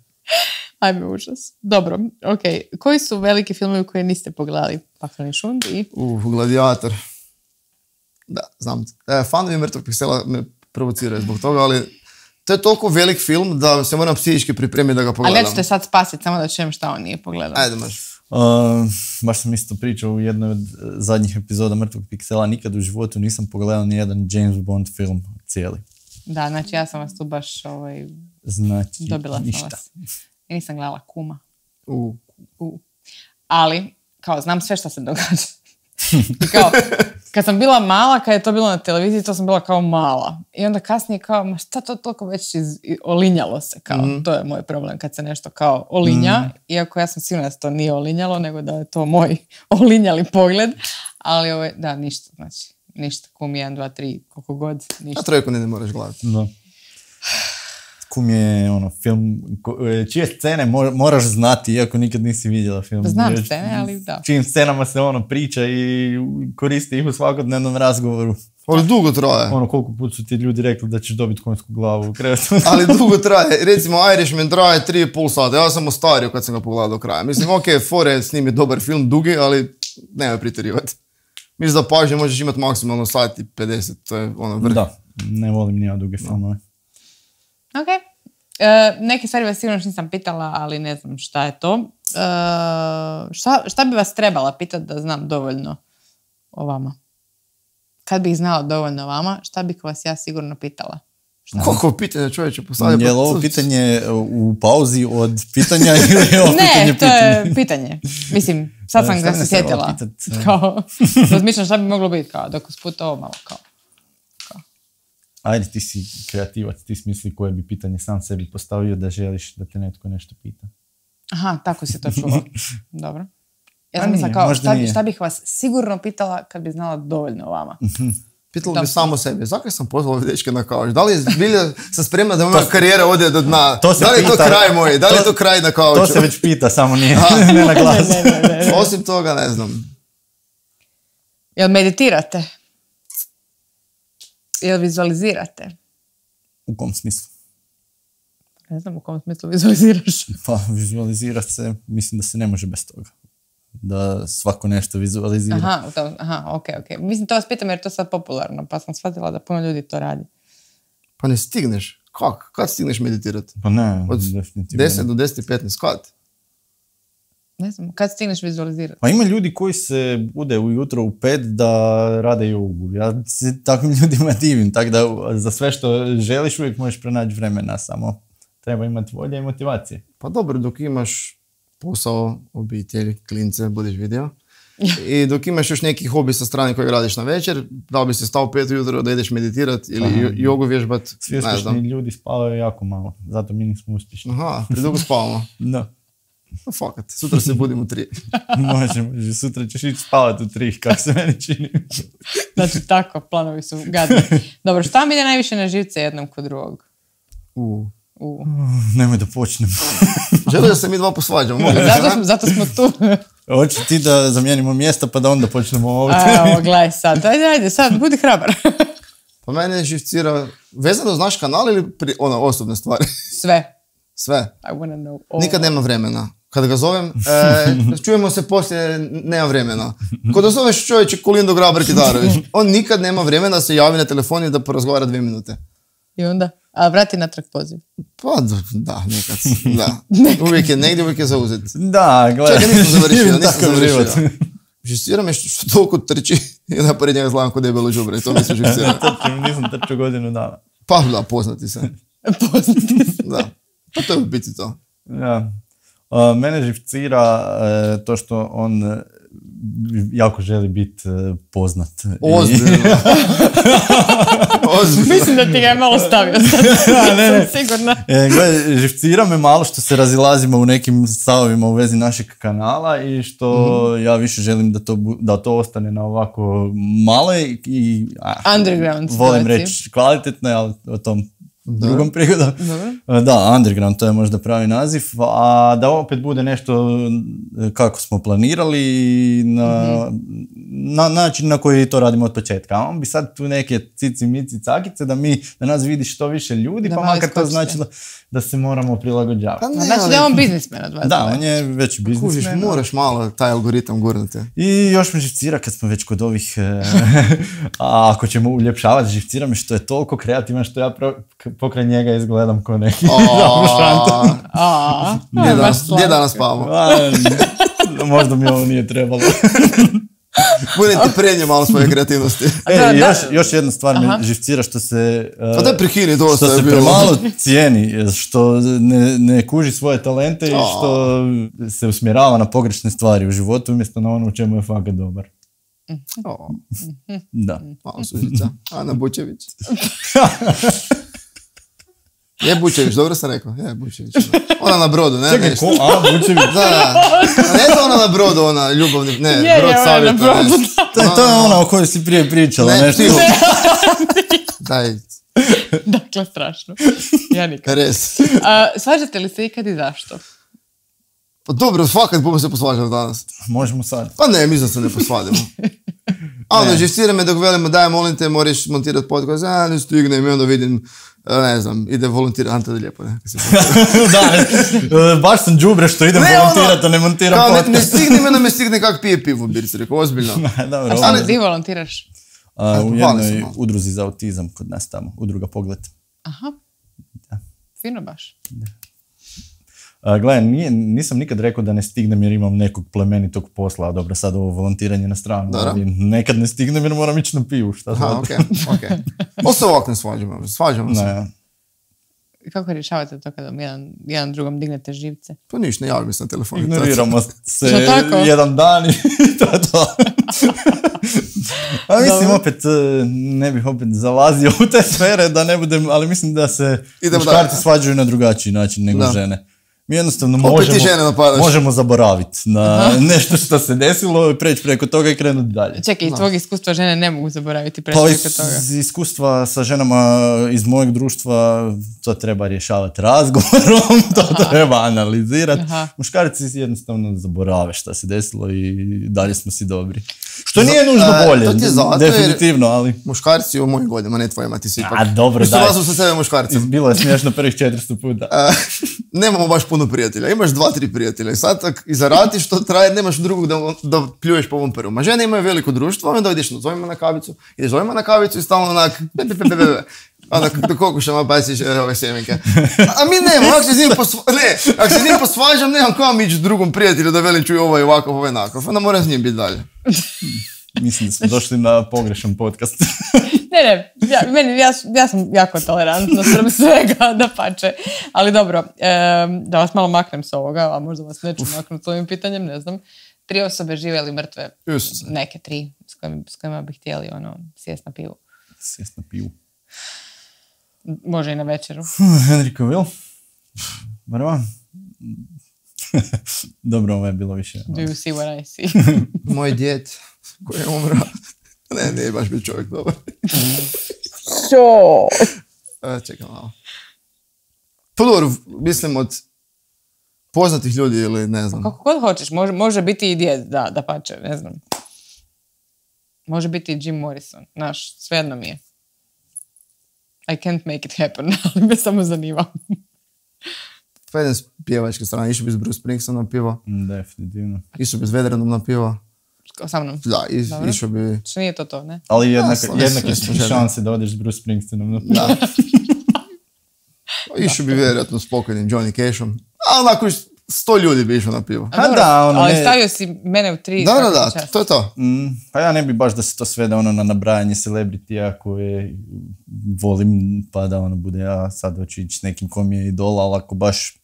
Speaker 1: Ajme, užas. Dobro, okej. Koji su veliki filmovi koje niste pogledali? Pakleni šund i...
Speaker 3: Gladiator. Da, znam. Fanovi Mrtvog piksela me provociraju zbog toga, ali to je toliko velik film da se moram psihički pripremiti da ga pogledam.
Speaker 1: Ali ja ću te sad spasiti, samo da čujem šta on nije pogledao.
Speaker 3: Ajde, maš.
Speaker 2: Baš sam isto pričao u jednoj od zadnjih epizoda Mrtvog piksela. Nikad u životu nisam pogledao ni jedan James Bond film cijeli.
Speaker 1: Da, znači ja sam vas tu baš
Speaker 2: znači,
Speaker 1: dobila
Speaker 2: ništa.
Speaker 1: sam vas. Ja nisam gledala Kuma. Ali, kao, znam sve šta se događa. I kao, kad sam bila mala, kad je to bilo na televiziji, to sam bila kao mala. I onda kasnije kao, ma šta to toliko već olinjalo se, kao, to je moj problem kad se nešto kao olinja, iako ja sam sigurna da se to nije olinjalo, nego da je to moj olinjali pogled, ali da, ništa, znači, ništa, Kum 1, 2, 3, koliko god, ništa.
Speaker 3: A trojku ne moraš gledati.
Speaker 2: Da. Kum je film čije scene moraš znati, iako nikad nisi vidjela film.
Speaker 1: Znam scene, ali da.
Speaker 2: Čijim scenama se priča i koristi ih u svakodnevnom razgovoru.
Speaker 3: Ali dugo traje.
Speaker 2: Koliko put su ti ljudi rekli da ćeš dobiti konjsku glavu u krevetu.
Speaker 3: Ali dugo traje. Recimo Irishman traje 3,5 sata. Ja sam ostario kad sam ga pogledao do kraja. Mislim, fore s njim je dobar film, dugi, ali nemoj pretjerivati. Mislim da pažnje možeš imati maksimalno sat i 50. To je vrh. Da,
Speaker 2: ne volim ni ja duge filmove.
Speaker 1: Ok. Neke stvari vas sigurno nisam pitala, ali ne znam šta je to. Šta bi vas trebala pitati da znam dovoljno o vama? Kad bih znala dovoljno o vama, šta bih vas ja sigurno pitala?
Speaker 3: Koliko pitanja čovječe postavlja?
Speaker 2: Je li ovo pitanje u pauzi od pitanja ili je ovo pitanje?
Speaker 1: Ne, to je pitanje. Mislim, sad sam ga se sjetila. Kao, razmišljam šta bi moglo biti, kao, dok usput ovo malo kao.
Speaker 2: Ajde, ti si kreativac, ti smisli koje bi pitanje sam sebi postavio da želiš da te netko nešto pita.
Speaker 1: Aha, tako si to čuo. Dobro. Ja sam mislila kao, šta bih vas sigurno pitala kad bi znala dovoljno o vama.
Speaker 3: Pitala bi samo sebe, zakaj sam pozvala ove dečke na kauč? Da li je bilja sam spremna da moja karijera ode do dna? Da li je to kraj moj? Da li je to kraj na kauču?
Speaker 2: To se već pita, samo nije ne na glas.
Speaker 3: Osim toga, ne znam.
Speaker 1: Jel meditirate? Jel vizualizirate?
Speaker 2: U kom smislu?
Speaker 1: Ne znam u kom smislu vizualiziraš.
Speaker 2: Pa vizualizirati se, mislim da se ne može bez toga. Da svako nešto vizualizira.
Speaker 1: Aha, ok. Mislim, to vas pitam jer je to sad popularno, pa sam shvatila da puno ljudi to radi.
Speaker 3: Pa ne stigneš. Kako? Kad stigneš meditirati?
Speaker 2: Pa ne,
Speaker 3: od
Speaker 2: definitivno.
Speaker 3: 10 do 10:15, kad?
Speaker 1: Ne znam, kad stigneš vizualizirati?
Speaker 2: Pa ima ljudi koji se bude ujutro u 5 da rade jogu. Ja se takvim ljudima divim, tako da za sve što želiš uvijek možeš pronaći vremena, samo treba imati volje i motivacije.
Speaker 3: Pa dobro, dok imaš posao, obitelj, klince, budeš vidio. I dok imaš još neki hobi sa strane kojeg radiš na večer, da bi se stao 5 ujutro da ideš meditirati ili jogu vježbat.
Speaker 2: Svi uspješni ljudi spavaju jako malo, zato mi nismo uspješni.
Speaker 3: Aha, predugo spavamo.
Speaker 2: Da.
Speaker 3: Fakat, sutra se budim u 3.
Speaker 2: Može, sutra ćeš ići spavati u 3, kako se meni čini.
Speaker 1: Znači, tako, planovi su gadni. Dobro, šta mi ide najviše na živce jednom kod drugog?
Speaker 2: Nemoj da počnem.
Speaker 3: Želio da se mi dva posvađamo.
Speaker 1: Zato smo tu.
Speaker 2: Hoće ti da zamijenimo mjesta pa da onda počnemo ovdje.
Speaker 1: Evo, gledaj sad. Ajde, sad, budi hrabar.
Speaker 3: Pa mene živcira, vezano uz naš kanal ili osobne stvari? Sve.
Speaker 1: I wanna know all.
Speaker 3: Nikad nema vremena. Kada ga zovem, čujemo se poslije, nema vremena. Kada zoveš čovječe Kolindu Grabar-Kitarović, on nikad nema vremena da se javi na telefon i da porazgovara 2 minute.
Speaker 1: I onda? A vrati natrag poziv.
Speaker 3: Pa da, nekad. Da. Uvijek je negdje, uvijek je zauzet.
Speaker 2: Da, gledaj.
Speaker 3: Čekaj, nisam završio. Živcira me što toliko trči i da pored njega zgledam kod debelo đubre. To mi se živcira.
Speaker 2: Nisam trčao godinu dana.
Speaker 3: Pa da, poznati se. Da. Pa to je u biti to.
Speaker 2: Ja. Mene živcira to što on jako želi biti poznat.
Speaker 3: Ozbiljno.
Speaker 1: Mislim da ti ga je malo stavio.
Speaker 2: Ne.
Speaker 1: Sigurno.
Speaker 2: Gledaj, živcira me malo što se razilazimo u nekim stavovima u vezi našeg kanala i što ja više želim da to ostane na ovako maloj i
Speaker 1: underground
Speaker 2: volim reći kvalitetno, ali o tom drugom prigodom. Da, underground, to je možda pravi naziv, a da opet bude nešto kako smo planirali na način na koji to radimo od početka. A on bi sad tu neke cici, mici, cakice da nas vidi što više ljudi, pa makar to značilo da se moramo prilagođavati.
Speaker 1: Znači da je on biznismen od vas.
Speaker 2: Da, on je već biznismen.
Speaker 3: Kužiš, moraš malo taj algoritam gurnuti.
Speaker 2: I još me živcira kad smo već kod ovih, a ako ćemo uljepšavati, živcira me što je toliko kreativan što ja pokraj njega izgledam ko neki šanta.
Speaker 3: Gdje danas spavamo?
Speaker 2: Možda mi ovo nije trebalo.
Speaker 3: Budem ti prenio malo svoje kreativnosti.
Speaker 2: Još jedna stvar me živcira što se
Speaker 3: pa daj prihini dosta
Speaker 2: što se premalo cijeni, što ne kuži svoje talente i što se usmjerava na pogrešne stvari u životu umjesto na ono u čemu je fakat dobar. Da.
Speaker 3: Malo sužica. Ana Bučević. Je Bučević, dobro sam rekao. Je Bučević. Ona na brodu, ne?
Speaker 2: Čekaj, ko? A, Bučević?
Speaker 3: Da. Ne to ona na brodu, ona ljubavni, ne, brod savjeta.
Speaker 2: To je ona o kojoj si prije pričala, nešto.
Speaker 3: Daj.
Speaker 1: Dakle, strašno. Ja nikad.
Speaker 3: Res.
Speaker 1: Svađate li se ikad i zašto?
Speaker 3: Pa dobro, fakat budemo se posvađali danas.
Speaker 2: Možemo sad.
Speaker 3: Pa ne, mislim da se ne posvadimo. A ono, živcira me dok velimo, daj, molim te, moraš montirati podcast, ne stignem i onda vidim, ne znam, ide volontirati, Ante da lijepo, ne?
Speaker 2: Da, baš sam đubre što idem volontirati, a ne montiram podcast.
Speaker 3: Ne stignem, onda me stigne kak pije pivo, birci, rekao, ozbiljno.
Speaker 2: Dobro,
Speaker 1: a gdje volontiraš?
Speaker 2: U jednoj udruzi za autizam kod nas tamo, udruga Pogled.
Speaker 1: Aha, fino baš.
Speaker 2: Gledaj, nisam nikad rekao da ne stignem jer imam nekog plemenitog posla, a dobro, sad ovo volontiranje na stranu, ali nekad ne stignem jer moram ići na pivu, šta sad?
Speaker 3: Okej. Osta ovak ne svađamo se.
Speaker 1: Kako rješavate to kada jedan drugom dignete živce?
Speaker 3: Pa niš, ne javim se na telefon.
Speaker 2: Ignoriramo se jedan dan i to je to. A mislim, opet, ne bih opet zalazio u te sfere da ne budem, ali mislim da se muškarci svađaju na drugačiji način nego žene. Mi jednostavno možemo zaboraviti na nešto što se desilo, preći preko toga i krenuti dalje.
Speaker 1: Čekaj, iz tvojeg iskustva žene ne mogu zaboraviti preći preko toga?
Speaker 2: Iz iskustva sa ženama iz mojeg društva to treba rješavati razgovorom, to treba analizirati. Muškarci jednostavno zaborave šta se desilo i dalje smo si dobri. Što nije nužno bolje, definitivno, ali...
Speaker 3: Muškarci u mojim godinama, ne tvojima, ti si ipak.
Speaker 2: A dobro, daj.
Speaker 3: Mislim, sa sebe muškarci.
Speaker 2: Bilo je smiješno prvih 400 puta.
Speaker 3: Nemamo baš puno prijatelja, imaš 2-3 prijatelja i sad i zaradiš to traje, nemaš drugog da pljuješ po ovom prvom. A žene imaju veliko društvo, onda ideš zovima na kavicu i stalno onak onda do kokušama baciš ove sjemenke. A mi nemamo, ako se s njim posvađam, nemam kao ići drugom prijatelju da velim čuj ovaj ovakav, ovaj onakav, onda moram s njim biti dalje.
Speaker 2: Mislim da smo došli na pogrešan podcast.
Speaker 1: Ja sam jako tolerantna sprem svega, da pače. Ali dobro, da vas malo maknem s ovoga, a možda vas neću maknuti s ovim pitanjem, ne znam. 3 osobe žive ili mrtve? Neke 3 s kojima bi htjeli sjest na pivu.
Speaker 2: Sjest na pivu.
Speaker 1: Može i na večeru.
Speaker 2: Henry Cavill. Prva. Dobro, ovo je bilo više.
Speaker 1: Do you see what I see?
Speaker 3: Moj djed koji je umro. Ne, nije baš bio čovjek dobar. Čekaj malo. Pa dobro, mislim od poznatih ljudi ili ne znam.
Speaker 1: Kako god hoćeš, može biti i djed, da pače, ne znam. Može biti i Jim Morrison, znaš, svejedno mi je. I can't make it happen, ali me samo zanima.
Speaker 3: Pa jedan s pjevačke strane, išao bi s Bruce Springsteenom na pivo.
Speaker 2: Definitivno.
Speaker 3: Išao bi s Vedranom na pivo.
Speaker 1: Sa mnom?
Speaker 3: Da, išao bi...
Speaker 1: Što nije to, ne?
Speaker 2: Ali jednake šanse da odeš s Bruce Springsteenom na pivo.
Speaker 3: Da. Išao bi vjerojatno s pokojnim Johnny Cashom. A onako 100 ljudi bi išao na pivo.
Speaker 1: Ali stavio si mene u 3.
Speaker 3: Da, to je to.
Speaker 2: Pa ja ne bi baš da se to svede na nabrajanje celebritija koje volim, pa da bude ja sad hoću ići s nekim kom je idol, ali ako baš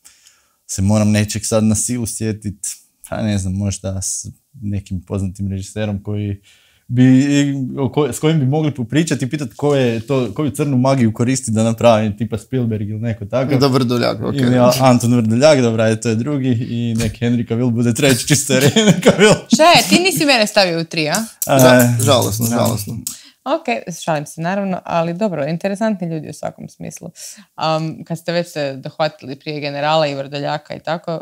Speaker 2: se moram nečeg sad na silu sjetiti, pa ne znam, možda s nekim poznatim režiserom s kojim bi mogli popričati i pitati koju crnu magiju koristi da napravi, tipa Spielberg ili neko tako.
Speaker 3: Da, Vrdoljak, ok.
Speaker 2: Ili Anton Vrdoljak, dobra, to je drugi, i nek Henry Cavill bude treći, čisto jer Henry Cavill.
Speaker 1: Šta je, ti nisi mene stavio u 3,
Speaker 3: a? Žalosno.
Speaker 1: Ok, šalim se naravno, ali dobro, interesantni ljudi u svakom smislu. Kad ste već se dohvatili prije Generala i Vrdoljaka i tako,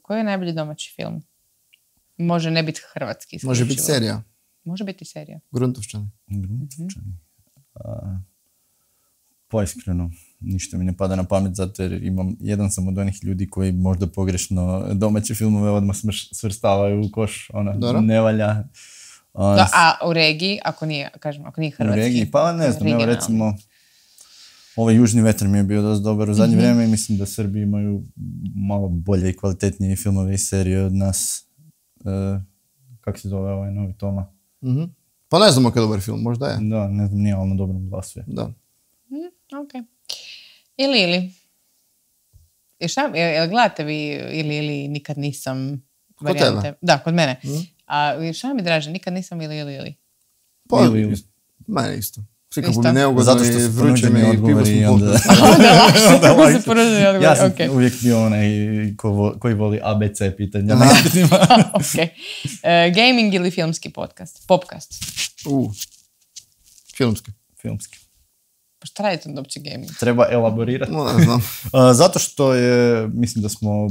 Speaker 1: koji je najbolji domaći film? Može ne biti hrvatski.
Speaker 3: Može biti serija.
Speaker 1: Može biti serija.
Speaker 3: Gruntovčani.
Speaker 2: Pa iskreno, ništa mi ne pada na pamet, zato jer jedan sam od onih ljudi koji možda pogrešno domaće filmove odmah svrstavaju u koš, ne valja.
Speaker 1: A u regiji, ako nije hrvatski?
Speaker 2: U regiji, pa ne znam, evo recimo, ovaj Južni vetar mi je bio dosta dobar u zadnje vrijeme i mislim da Srbi imaju malo bolje i kvalitetnije filmove i serije od nas. Kako se zove ovaj novi Toma?
Speaker 3: Pa ne znam kako je dobar film, možda je.
Speaker 2: Da, ne znam, nije, ali na dobrom glasu je.
Speaker 3: Da.
Speaker 1: Ok. Ili. Jel gledate vi ili nikad nisam varijante?
Speaker 3: Kod tebe?
Speaker 1: Da, kod mene. A šta mi draže, nikad nisam ili?
Speaker 3: Pa, mene isto. Svi kako bi neugodno i vruće mi i pivo smo
Speaker 2: onda
Speaker 1: se poručeni odgovor.
Speaker 2: Ja sam uvijek bio onaj koji voli ABC pitanja.
Speaker 1: Ok. Gaming ili filmski podcast? Popcast?
Speaker 3: Filmski.
Speaker 1: Pa šta radite od uopće gaming?
Speaker 2: Treba elaborirati.
Speaker 3: Ne znam.
Speaker 2: Zato što je, mislim da smo,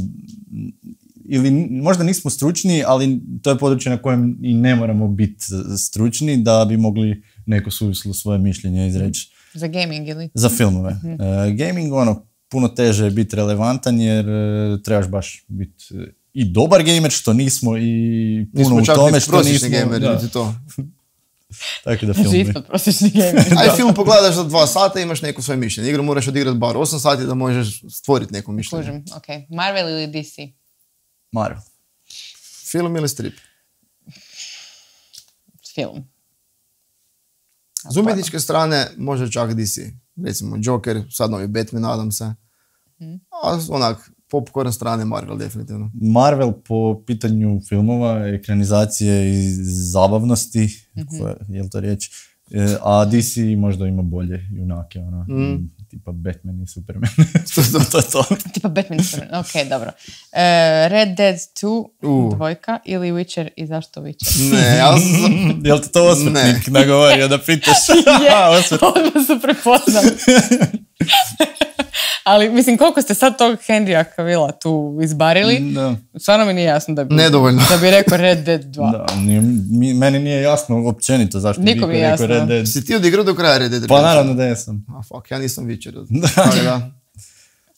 Speaker 2: ili možda nismo stručni, ali to je područje na kojem i ne moramo biti stručni da bi mogli neko suvislo svoje mišljenje izreći.
Speaker 1: Za gaming ili?
Speaker 2: Za filmove. Gaming, puno teže je biti relevantan jer trebaš baš biti i dobar gamer, što nismo, i puno u tome što nismo.
Speaker 3: Gamer, to.
Speaker 2: Tako da film.
Speaker 1: Ispod prosječni gamer.
Speaker 3: Aj film pogledaš za 2 sata i imaš neko svoje mišljenje. Igru moraš odigrati bar 8 sati da možeš stvoriti neko mišljenje.
Speaker 1: Kužim, ok. Marvel ili DC?
Speaker 2: Marvel.
Speaker 3: Film ili strip?
Speaker 1: Film.
Speaker 3: S umjetničke strane može čak DC. Recimo Joker, sad novi Batman, nadam se. A onak, popcorn strane Marvel definitivno.
Speaker 2: Marvel po pitanju filmova, ekranizacije i zabavnosti, je li to riječ? A DC možda ima bolje junake, tipa Batman i Superman. to je to.
Speaker 1: Tipa Batman i Superman, ok, dobro. Red Dead 2, dvojka, ili Witcher i zašto Witcher?
Speaker 3: Ne, ja sam...
Speaker 2: Jel ti to osvrtnik nagovorio da pitaš?
Speaker 1: Odmah su prepoznali. Ali, mislim, koliko ste sad tog Henrya Cavilla tu izbarili, stvarno mi nije jasno da bi rekao Red Dead 2.
Speaker 2: Da, meni nije jasno općenito zašto bi rekao Red Dead.
Speaker 3: Si ti odigrao do kraja Red Dead?
Speaker 2: Pa naravno da jesam.
Speaker 3: Ja nisam Witcher.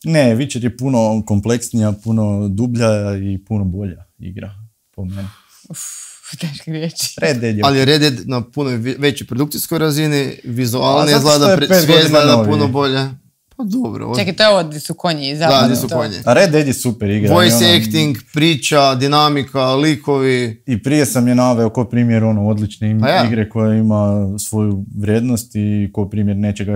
Speaker 2: Ne, Witcher je puno kompleksnija, puno dublja i puno bolja igra, po meni.
Speaker 1: Teške riječi.
Speaker 2: Red Dead je...
Speaker 3: Ali Red Dead na puno većoj produkcijskoj razini, vizualno izgleda, sve izgleda puno bolje. Pa dobro.
Speaker 1: Čekaj, to je ovo gdje su konji.
Speaker 3: Da, gdje su konji.
Speaker 2: A Red Dead je super igra.
Speaker 3: Voice acting, priča, dinamika, likovi.
Speaker 2: I prije sam je naveo ko primjer odlične igre koja ima svoju vrijednost i ko primjer nečega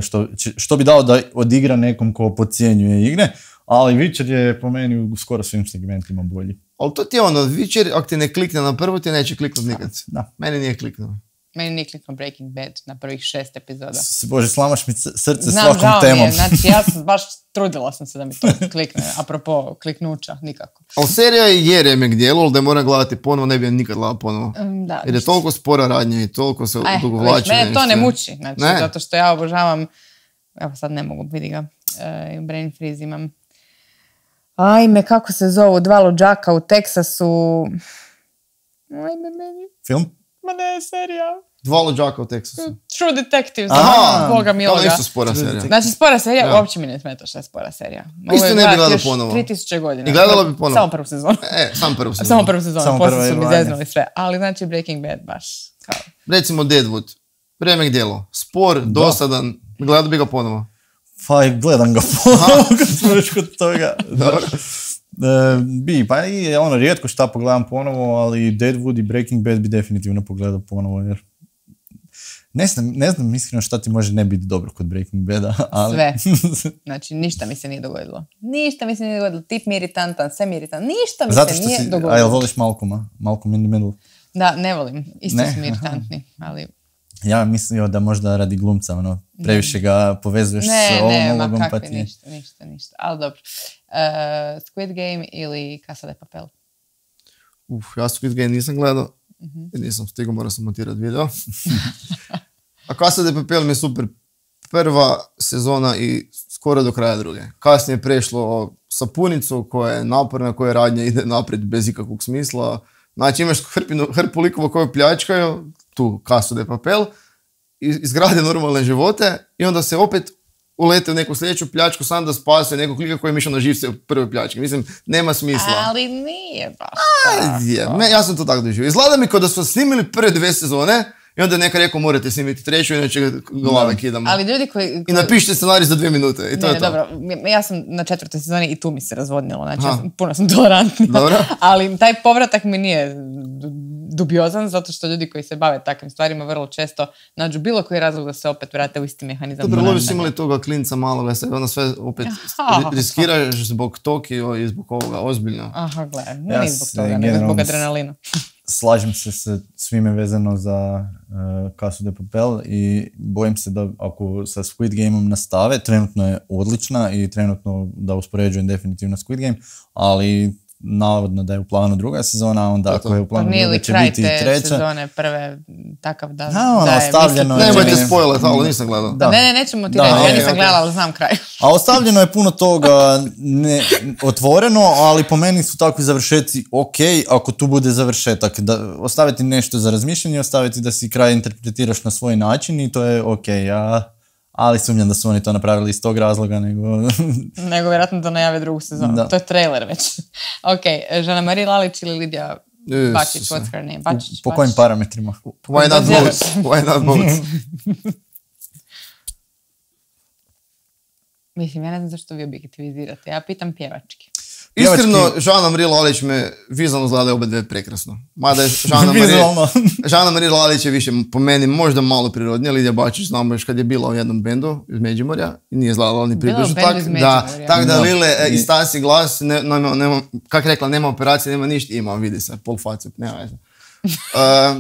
Speaker 2: što bi dao da odigra nekom ko podcjenjuje igre. Ali Witcher je po meni u skoro svim segmentima bolji.
Speaker 3: Ali to ti je Witcher, ako ti ne klikne na prvu, ti neće kliknuti nikad.
Speaker 2: Da.
Speaker 3: Meni nije kliknuo.
Speaker 1: Meni nije kliknuo Breaking Bad na prvih 6 epizoda.
Speaker 2: Bože, slamaš mi srce
Speaker 1: Znam,
Speaker 2: svakom
Speaker 1: žao
Speaker 2: temom.
Speaker 1: mi je, znači ja sam baš trudila sam se da mi to klikne, apropo kliknuća, nikako.
Speaker 3: Ali serija je remek dijelo, ali da je moram gledati ponovo, ne bi je nikad gledala ponovo.
Speaker 1: Da,
Speaker 3: Jer je toliko spora radnja i toliko se odugovlači.
Speaker 1: Mene to ne muči, znači,
Speaker 3: Ne.
Speaker 1: zato što ja obožavam, evo sad ne mogu, vidi ga, brain freeze imam. Ajme, kako se zovu, 2 luđaka u Teksasu. Ajme, meni.
Speaker 2: Film?
Speaker 1: Ma ne, serija.
Speaker 3: 2 luđaka u Teksasu.
Speaker 1: True Detectives,
Speaker 3: Aha,
Speaker 1: Boga miloga.
Speaker 3: To isto spora serija.
Speaker 1: Znači, spora serija,
Speaker 3: Da.
Speaker 1: uopće mi ne smeta što je spora serija.
Speaker 3: Isto ne bi gledala
Speaker 1: još
Speaker 3: ponovo.
Speaker 1: 3000 godina.
Speaker 3: I gledala bi ponovo.
Speaker 1: Samo prvu sezonu.
Speaker 3: Sam prvu sezonu.
Speaker 1: Samo prvu sezonu,
Speaker 2: Samo
Speaker 1: poslije
Speaker 2: prva
Speaker 1: su mi
Speaker 2: je vanja.
Speaker 1: zeznuli sve. Ali znači Breaking Bad baš kao...
Speaker 3: Recimo Deadwood. Remek dijelo. Spor, dosadan. Gledala bi ga ponovo.
Speaker 2: Pa gledam ga ponovo kad smo već kod toga.
Speaker 3: Dobro.
Speaker 2: Pa i ono, rijetko šta pogledam ponovo, ali Deadwood i Breaking Bad bi definitivno pogledao ponovo, jer ne znam iskreno šta ti može ne biti dobro kod Breaking Bada, ali...
Speaker 1: Sve. Znači, ništa mi se nije dogodilo. Ništa mi se nije dogodilo. Tip mi je iritantan, sve mi je iritantan. Ništa mi
Speaker 2: Zato
Speaker 1: se
Speaker 2: što
Speaker 1: nije
Speaker 2: si,
Speaker 1: dogodilo.
Speaker 2: a jel voliš Malcolma? Malcolm in the Middle?
Speaker 1: Da, ne volim. Isto
Speaker 2: Ne?
Speaker 1: su mi iritantni, ali...
Speaker 2: Ja mislio da možda radi glumca, ono, previše ga povezuješ s ovom
Speaker 1: ma
Speaker 2: ulogom, pa
Speaker 1: kakvi,
Speaker 2: ti je...
Speaker 1: ništa. Ali dobro. Squid Game ili Casa de Papel?
Speaker 3: Ja Squid Game nisam gledao. Nisam stigao, morao sam montirati video. A Casa de Papel mi je super. Prva sezona i skoro do kraja druge. Kasnije je prešlo sapunicu koja je naporna, koja radnja ide naprijed bez ikakvog smisla. Znači imaš hrpu likova koje pljačkaju, tu Casu de Papel, izgrade normalne živote i onda se opet ulete u neku sljedeću pljačku sam da spase nekog klika koji je mišao na živce u prvoj pljački. Mislim, nema smisla.
Speaker 1: Ali nije baš
Speaker 3: tako. Ja sam to tako doživio. Izgleda mi kao da su snimili prve 2 sezone i onda je neka rekao morate snimiti 3, inače glave kidamo.
Speaker 1: Ali ljudi koji...
Speaker 3: I napišite scenarij za 2 minute i to je to.
Speaker 1: Dobro, ja sam na 4. sezoni i tu mi se razvodnilo, znači puno sam tolerantnija.
Speaker 3: Dobro.
Speaker 1: Ali taj povratak mi nije dubiozan, zato što ljudi koji se bave takvim stvarima vrlo često nađu bilo koji razlog da se opet vrate u isti mehanizam.
Speaker 3: Dobro, lovi su imali toga klinca maloga, se onda sve opet riskiraš zbog Tokio i zbog ovoga, ozbiljno.
Speaker 1: Aha, gledaj,
Speaker 2: Ja
Speaker 1: nije zbog
Speaker 2: se
Speaker 1: toga, nego
Speaker 2: generalno
Speaker 1: zbog adrenalina.
Speaker 2: Slažem se sa svime vezano za Casu de Papel i bojim se da ako sa Squid Gameom nastave, trenutno je odlična i trenutno da uspoređujem definitivno Squid Game, ali navodno da je u planu 2. sezona, onda ako je u planu 2. će biti i 3.
Speaker 1: Nije li kraj te sezone prve takav da
Speaker 2: ono,
Speaker 1: je...
Speaker 2: ostavljeno je...
Speaker 3: Nemojte spoilet, ali nisam gledao.
Speaker 2: Da.
Speaker 1: Ne, nećemo ti
Speaker 2: Da,
Speaker 1: reći, ja
Speaker 2: ok,
Speaker 1: nisam
Speaker 3: ok.
Speaker 1: gledala, ali znam kraj.
Speaker 2: A ostavljeno je puno toga otvoreno, ali po meni su takvi završetci ok, ako tu bude završetak. Da, ostaviti nešto za razmišljanje, ostaviti da si kraj interpretiraš na svoj način i to je ok. Ali sumnjam da su oni to napravili iz tog razloga, nego...
Speaker 1: Nego vjerojatno da najave 2. sezonu.
Speaker 2: Da.
Speaker 1: To je trailer već. Ok, Žana-Marija Lalić ili Lidija Bačić,
Speaker 3: Isuse.
Speaker 1: what's her name? Bačić,
Speaker 2: Po kojim parametrima?
Speaker 3: Why not both? Why not both?
Speaker 1: Mislim, ja ne znam zašto vi objektivizirate. Ja pitam pjevački.
Speaker 3: Iskreno, Žana Marija Lalić me vizualno izgleda oba dve prekrasno. Mada je
Speaker 2: Vizualno.
Speaker 3: Žana Marija Lalić je više po meni možda malo prirodnija. Lidija Bačić znamo još kad je bila u jednom bendu iz Međimurja i nije izgledala ni
Speaker 1: Bila u
Speaker 3: približno
Speaker 1: bendu
Speaker 3: tak.
Speaker 1: iz
Speaker 3: Da,
Speaker 1: Međimurja.
Speaker 3: tak da
Speaker 2: Da.
Speaker 3: Lile i Stasi glas, kak rekla, nema operacije, nema ništa, ima, vidi se, pol face, nema veze.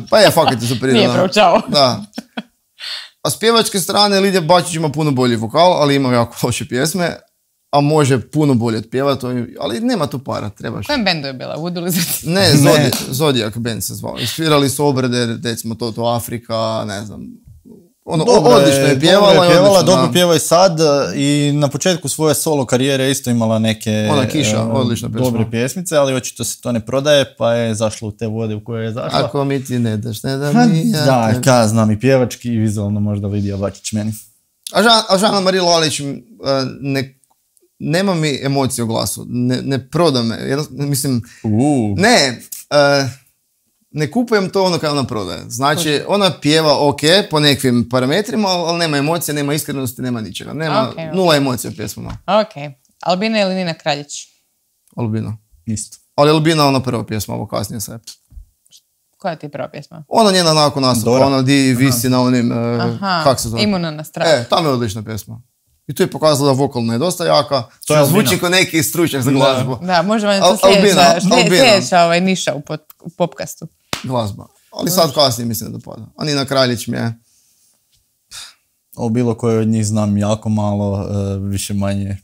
Speaker 3: Pa je, fakat je su prirodna.
Speaker 1: Nije proučavao.
Speaker 3: Da. A s pjevačke strane Lidija Bačić ima puno bolji vokal, ali ima jako loše pjesme, a može puno bolje otpjevati, ali nema tu para, trebaš.
Speaker 1: U kojem bendu je bila? Voodoo ili Zeti?
Speaker 3: Ne, Zodiac band se zvao. Isfirali su obrade, recimo to Afrika, ne znam. Odlično je pjevala.
Speaker 2: Dobro pjeva i sad i na početku svoje solo karijere isto imala neke
Speaker 3: Ona Kiša, odlična pjesma.
Speaker 2: dobre pjesmice, ali očito se to ne prodaje, pa je zašla u te vode u koje je zašla.
Speaker 3: Ako mi ti ne daš, ne da mi ja
Speaker 2: Da,
Speaker 3: tebi.
Speaker 2: ka znam i pjevački i vizualno možda Lidija Bačić meni.
Speaker 3: A Žana Marija Lalić nema mi emocije u glasu. Ne proda me. Mislim, ne kupujem to ono kada ona prodaje. Znači, ona pjeva ok po nekim parametrima, ali nema emocije, nema iskrenosti, nema ničega. Nema nula emocija u pjesmama.
Speaker 1: Ok. Albina ili Nina Kraljić?
Speaker 3: Albina.
Speaker 2: Isto.
Speaker 3: Ali Albina ona prva pjesma, ovo kasnije se.
Speaker 1: Koja ti je prva pjesma?
Speaker 3: Ona njena nakon nastupa,
Speaker 2: Dora.
Speaker 3: ona di visi na onim, kak se zove?
Speaker 1: Imuna na strah.
Speaker 3: Tamo je odlična pjesma. I tu je pokazala da vokalna je dosta jaka,
Speaker 2: To je
Speaker 3: što zvuči
Speaker 2: Albina.
Speaker 3: kao neki stručnjak za glazbu.
Speaker 1: Da, može vam to
Speaker 3: Albina.
Speaker 1: sljedeća niša u popkastu.
Speaker 3: Glazba. Ali sad kasnije mi se ne dopada. A Nina Kraljić mi je...
Speaker 2: O bilo koje od njih znam jako malo, više manje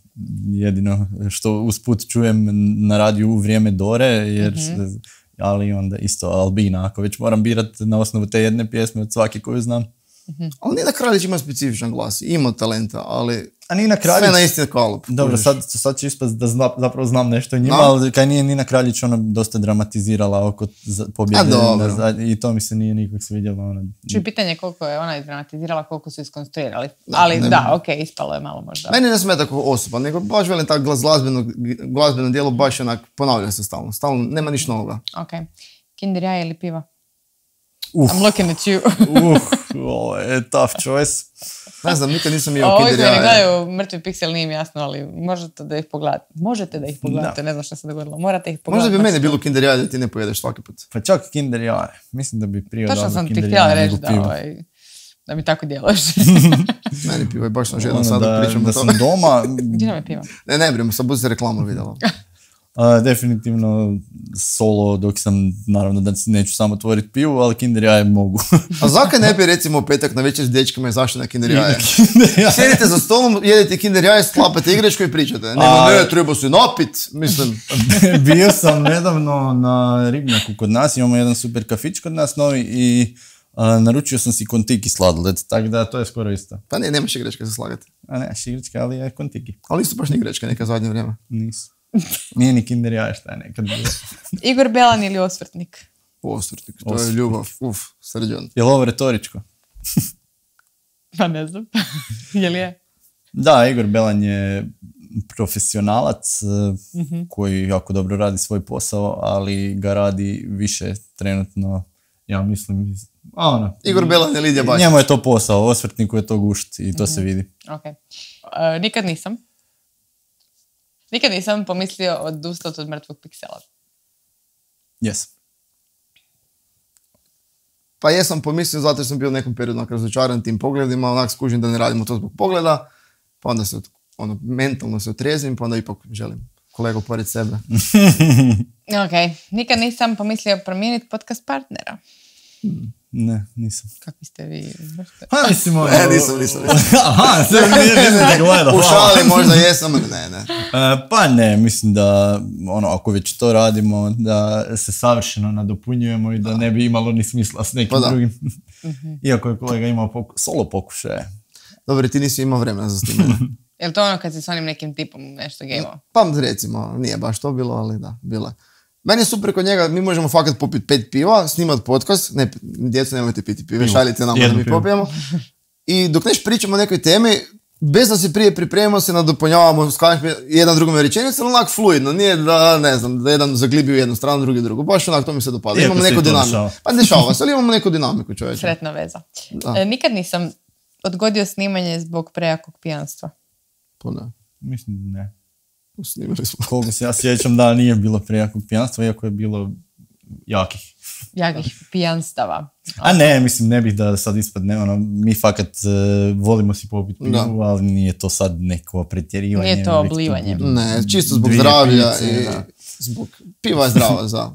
Speaker 2: jedino što usput čujem na radiju u vrijeme Dore, jer, ali onda isto Albina, ako već moram birati na osnovu te jedne pjesme od svake koju znam.
Speaker 3: Ali Nina Kraljić ima specifičan glas, ima talenta, ali
Speaker 2: A Nina Kraljić...
Speaker 3: sve na isti kalup.
Speaker 2: Dobro, sad ću ispast da zapravo znam nešto o njima,
Speaker 3: No.
Speaker 2: ali kaj nije Nina Kraljić ona dosta dramatizirala oko pobjede i to mi se nije nikak svidjelo. Ona...
Speaker 1: Čuj, pitanje koliko je ona izdramatizirala, koliko su iskonstruirali. Ali ispalo je malo možda.
Speaker 3: Meni ne smeta kao osoba, nego baš velim tak glazbeno dijelo baš onak ponavlja se stalno. Stalno, nema ništa novoga.
Speaker 1: Ok. Kinder jaje ili piva?
Speaker 2: Uf.
Speaker 1: I'm looking at you.
Speaker 2: Ovo je tough choice.
Speaker 3: Ne znam, nikad nisam jeo
Speaker 1: Ovi
Speaker 3: Kinder
Speaker 1: koji ne
Speaker 3: jaje.
Speaker 1: gledaju Mrtvi piksel nije mi jasno, ali možete da ih pogledate. Ne znam što se dogodilo. Morate ih pogledati.
Speaker 3: Možda bi meni bilo Kinder jaje da ti ne pojedeš svaki put.
Speaker 2: Pa čak Kinder jaje. Mislim da bi prije
Speaker 1: Točno
Speaker 2: dao
Speaker 1: sam ti
Speaker 2: Kinder
Speaker 1: htjela
Speaker 2: jaje
Speaker 1: reći
Speaker 2: nego pivo.
Speaker 1: da mi tako djeluješ.
Speaker 3: Meni pivo je baš sam žedan
Speaker 2: Ono
Speaker 3: sad da pričam o
Speaker 2: da
Speaker 3: tome.
Speaker 2: sam doma,
Speaker 1: Gdje nam je piva?
Speaker 3: Ne brim, sad budi se reklamu vidjela.
Speaker 2: definitivno solo, dok sam, naravno da neću samo otvoriti pivu, ali Kinder jaje mogu.
Speaker 3: A zakaj ne bi recimo u petak na večer s dečkama izašli na Kinder jaje?
Speaker 2: Kinder jaje.
Speaker 3: Sjedite za stolom, jedete Kinder jaje, sklapate igračku i pričate. Ne, treba se napit, mislim.
Speaker 2: Bio sam nedavno na Ribnjaku kod nas, imamo jedan super kafić kod nas novi i naručio sam si kontiki sladoled, tako da to je skoro isto.
Speaker 3: Pa ne, nemaš igračke za slagati.
Speaker 2: A nemaš igračke, ali je kontiki.
Speaker 3: Ali nisu baš ni igračke neka zadnje vrijeme.
Speaker 2: Nisu. Nije ni Kinder jaje šta je nekad bilo.
Speaker 1: Igor Belan ili Osvrtnik?
Speaker 3: Osvrtnik, to je ljubav. Srđan.
Speaker 2: Je li ovo retoričko?
Speaker 1: Pa ne znam. Je li je?
Speaker 2: Da, Igor Belan je profesionalac koji jako dobro radi svoj posao, ali ga radi više trenutno, ja mislim,
Speaker 3: Igor Belan je Lidija Bašić.
Speaker 2: Njemu je to posao, Osvrtniku je to gušt i to se vidi.
Speaker 1: Ok. Nikad nisam pomislio odustati od Mrtvog piksela.
Speaker 2: Jesam.
Speaker 3: Pa jesam pomislio zato što sam bio u nekom periodu razočaran tim pogledima, onak skužim da ne radimo to zbog pogleda, pa onda se mentalno se otrezim, pa onda ipak želim kolegu pored sebe.
Speaker 1: Ok. Nikad nisam pomislio promijeniti podcast partnera.
Speaker 2: Ne, nisam.
Speaker 1: Kakvi ste vi?
Speaker 2: Pa mislim,
Speaker 3: Nisam.
Speaker 2: Aha, sve nisam te gledao.
Speaker 3: U šali možda jesam, ali ne.
Speaker 2: Pa ne, mislim da ako već to radimo, da se savršeno nadopunjujemo i da ne bi imalo ni smisla s nekim drugim. Iako je kolega imao solo pokušaje.
Speaker 3: Dobro, ti nisi imao vremena za snimanje.
Speaker 1: Je li to ono kad si s onim nekim tipom nešto gameo?
Speaker 3: Pa recimo, nije baš to bilo, ali da, bilo je. Meni je super kod njega, mi možemo fakat popiti 5 piva, snimati podcast, ne, djecu nemojte piti pive, šaljite nam da mi popijemo. I dok neš pričamo o nekoj temi, bez da se prije pripremimo, se nadopunjavamo, skažemo jedan drugome rečenicu, ali onak fluidno, nije da, ne znam, da jedan zaglibi u jednu stranu, drugi drugu, baš onak to mi se dopada. Imamo neku dinamiku. Pa dešava se, ali imamo neku dinamiku, čovječe.
Speaker 1: Sretna veza. Nikad nisam odgodio snimanje zbog prejakog pijanstva.
Speaker 3: Pa ne.
Speaker 2: Mislim da ne.
Speaker 3: Snimali smo.
Speaker 2: Koliko se ja sjećam da nije bilo prejakog pijanstva, iako je bilo jakih
Speaker 1: pijanstava.
Speaker 2: A ne, mislim, ne bih da sad ispadne, mi fakat volimo si popiti pivu, ali nije to sad neko pretjerivanje.
Speaker 1: Nije to oblivanje.
Speaker 3: Ne, čisto zbog zdravlja i zbog piva je zdrava za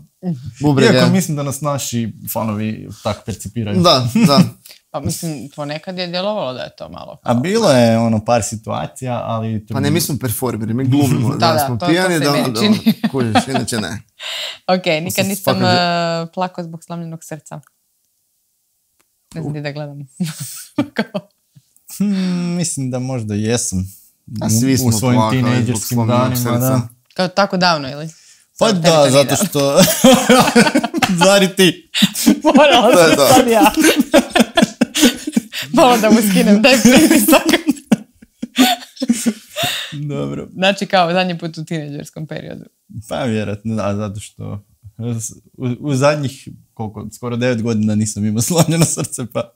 Speaker 3: bubrege.
Speaker 2: Iako mislim da nas naši fanovi tak percipiraju.
Speaker 3: Da.
Speaker 1: Pa mislim, ponekad je djelovalo da je to malo.
Speaker 2: A bilo je par situacija, ali...
Speaker 3: Pa ne, mi smo performeri, mi glumimo da smo pijani, da kužiš, inače ne.
Speaker 1: Ok, nikad nisam plakao zbog slomljenog srca. Ne znam da gledam.
Speaker 2: Mislim da možda jesam.
Speaker 3: Svi smo
Speaker 2: u svojim tinejdžerskim danima, da.
Speaker 1: Kao tako davno, ili?
Speaker 2: Pa da, zato što... Zari ti.
Speaker 1: Morala sam sad ja. Malo da mu skinem, daj pritisak.
Speaker 2: Dobro.
Speaker 1: Znači kao zadnji put u tinejdžerskom periodu.
Speaker 2: Pa vjerojatno, da, zato što u zadnjih, skoro 9 godina nisam imao slomljeno srce, pa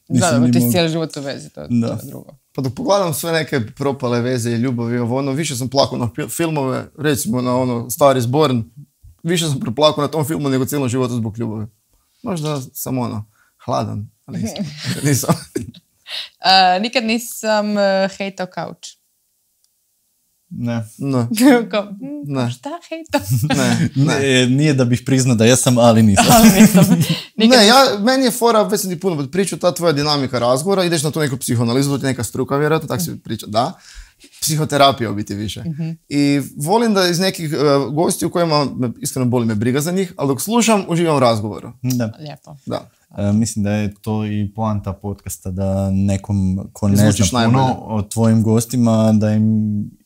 Speaker 2: nisam
Speaker 1: da, ti si cijeli život u vezi, to je drugo.
Speaker 3: Pa dok pogledam sve neke propale veze i ljubavi, više sam plakao na filmove, recimo na Star is Born, više sam preplakao na tom filmu nego cijelom životu zbog ljubavi. Možda sam hladan, ali nisam.
Speaker 1: Nikad nisam hejtao kauč.
Speaker 2: Ne.
Speaker 3: Ne.
Speaker 1: Kao,
Speaker 3: Ne.
Speaker 1: šta hejta?
Speaker 3: Ne.
Speaker 2: Nije da bih priznao da jesam, ali nisam.
Speaker 1: Ali nisam. Nikad
Speaker 3: Ne, meni je fora, već sam ti puno pričao, ta tvoja dinamika razgovora, ideš na tu neku psihoanalizu, to ti je neka struka, vjerojatno, tako se priča, da. Psihoterapija u biti više. I volim da iz nekih gostiju kojima, iskreno boli me briga za njih, ali dok slušam, uživam u razgovoru.
Speaker 2: Da.
Speaker 1: Lijepo.
Speaker 3: Da.
Speaker 2: Mislim da je to i poanta podcasta, da nekom ko ne
Speaker 3: Izvučiš
Speaker 2: zna puno
Speaker 3: najbolje.
Speaker 2: o tvojim gostima, da im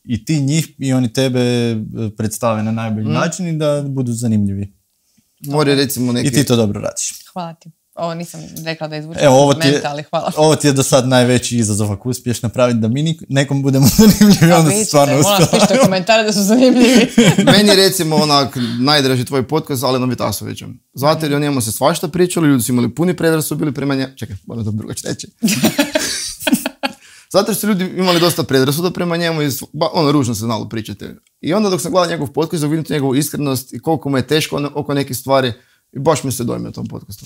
Speaker 2: i ti njih i oni tebe predstave na najbolji način i da budu zanimljivi.
Speaker 3: More recimo neki...
Speaker 2: I ti to dobro radiš.
Speaker 1: Hvala ti. Ovo nisam rekla da izvučem
Speaker 2: Evo,
Speaker 1: kompliment, ali hvala.
Speaker 2: ovo ti je do sad najveći izazov ako uspiješ napraviti da mi nekom budemo zanimljivi, onda se stvarno
Speaker 1: Molim vas,
Speaker 2: uspjela.
Speaker 1: pišite komentare da su zanimljivi.
Speaker 3: Meni je recimo onak najdraži tvoj podcast s Alenom Vitasovićem. Zato jer o njemu se svašta pričalo, ljudi su imali puni predrasuda bili prema njemu. Čekaj, moram to drugačije reći. Zato jer su ljudi imali dosta predrasuda prema njemu i ružno se znalo pričati. I onda dok sam gledao njegov podcast, vidim njegovu iskrenost i koliko mu je teško oko nekih stvari. I baš mi se dojmio tom podcastu.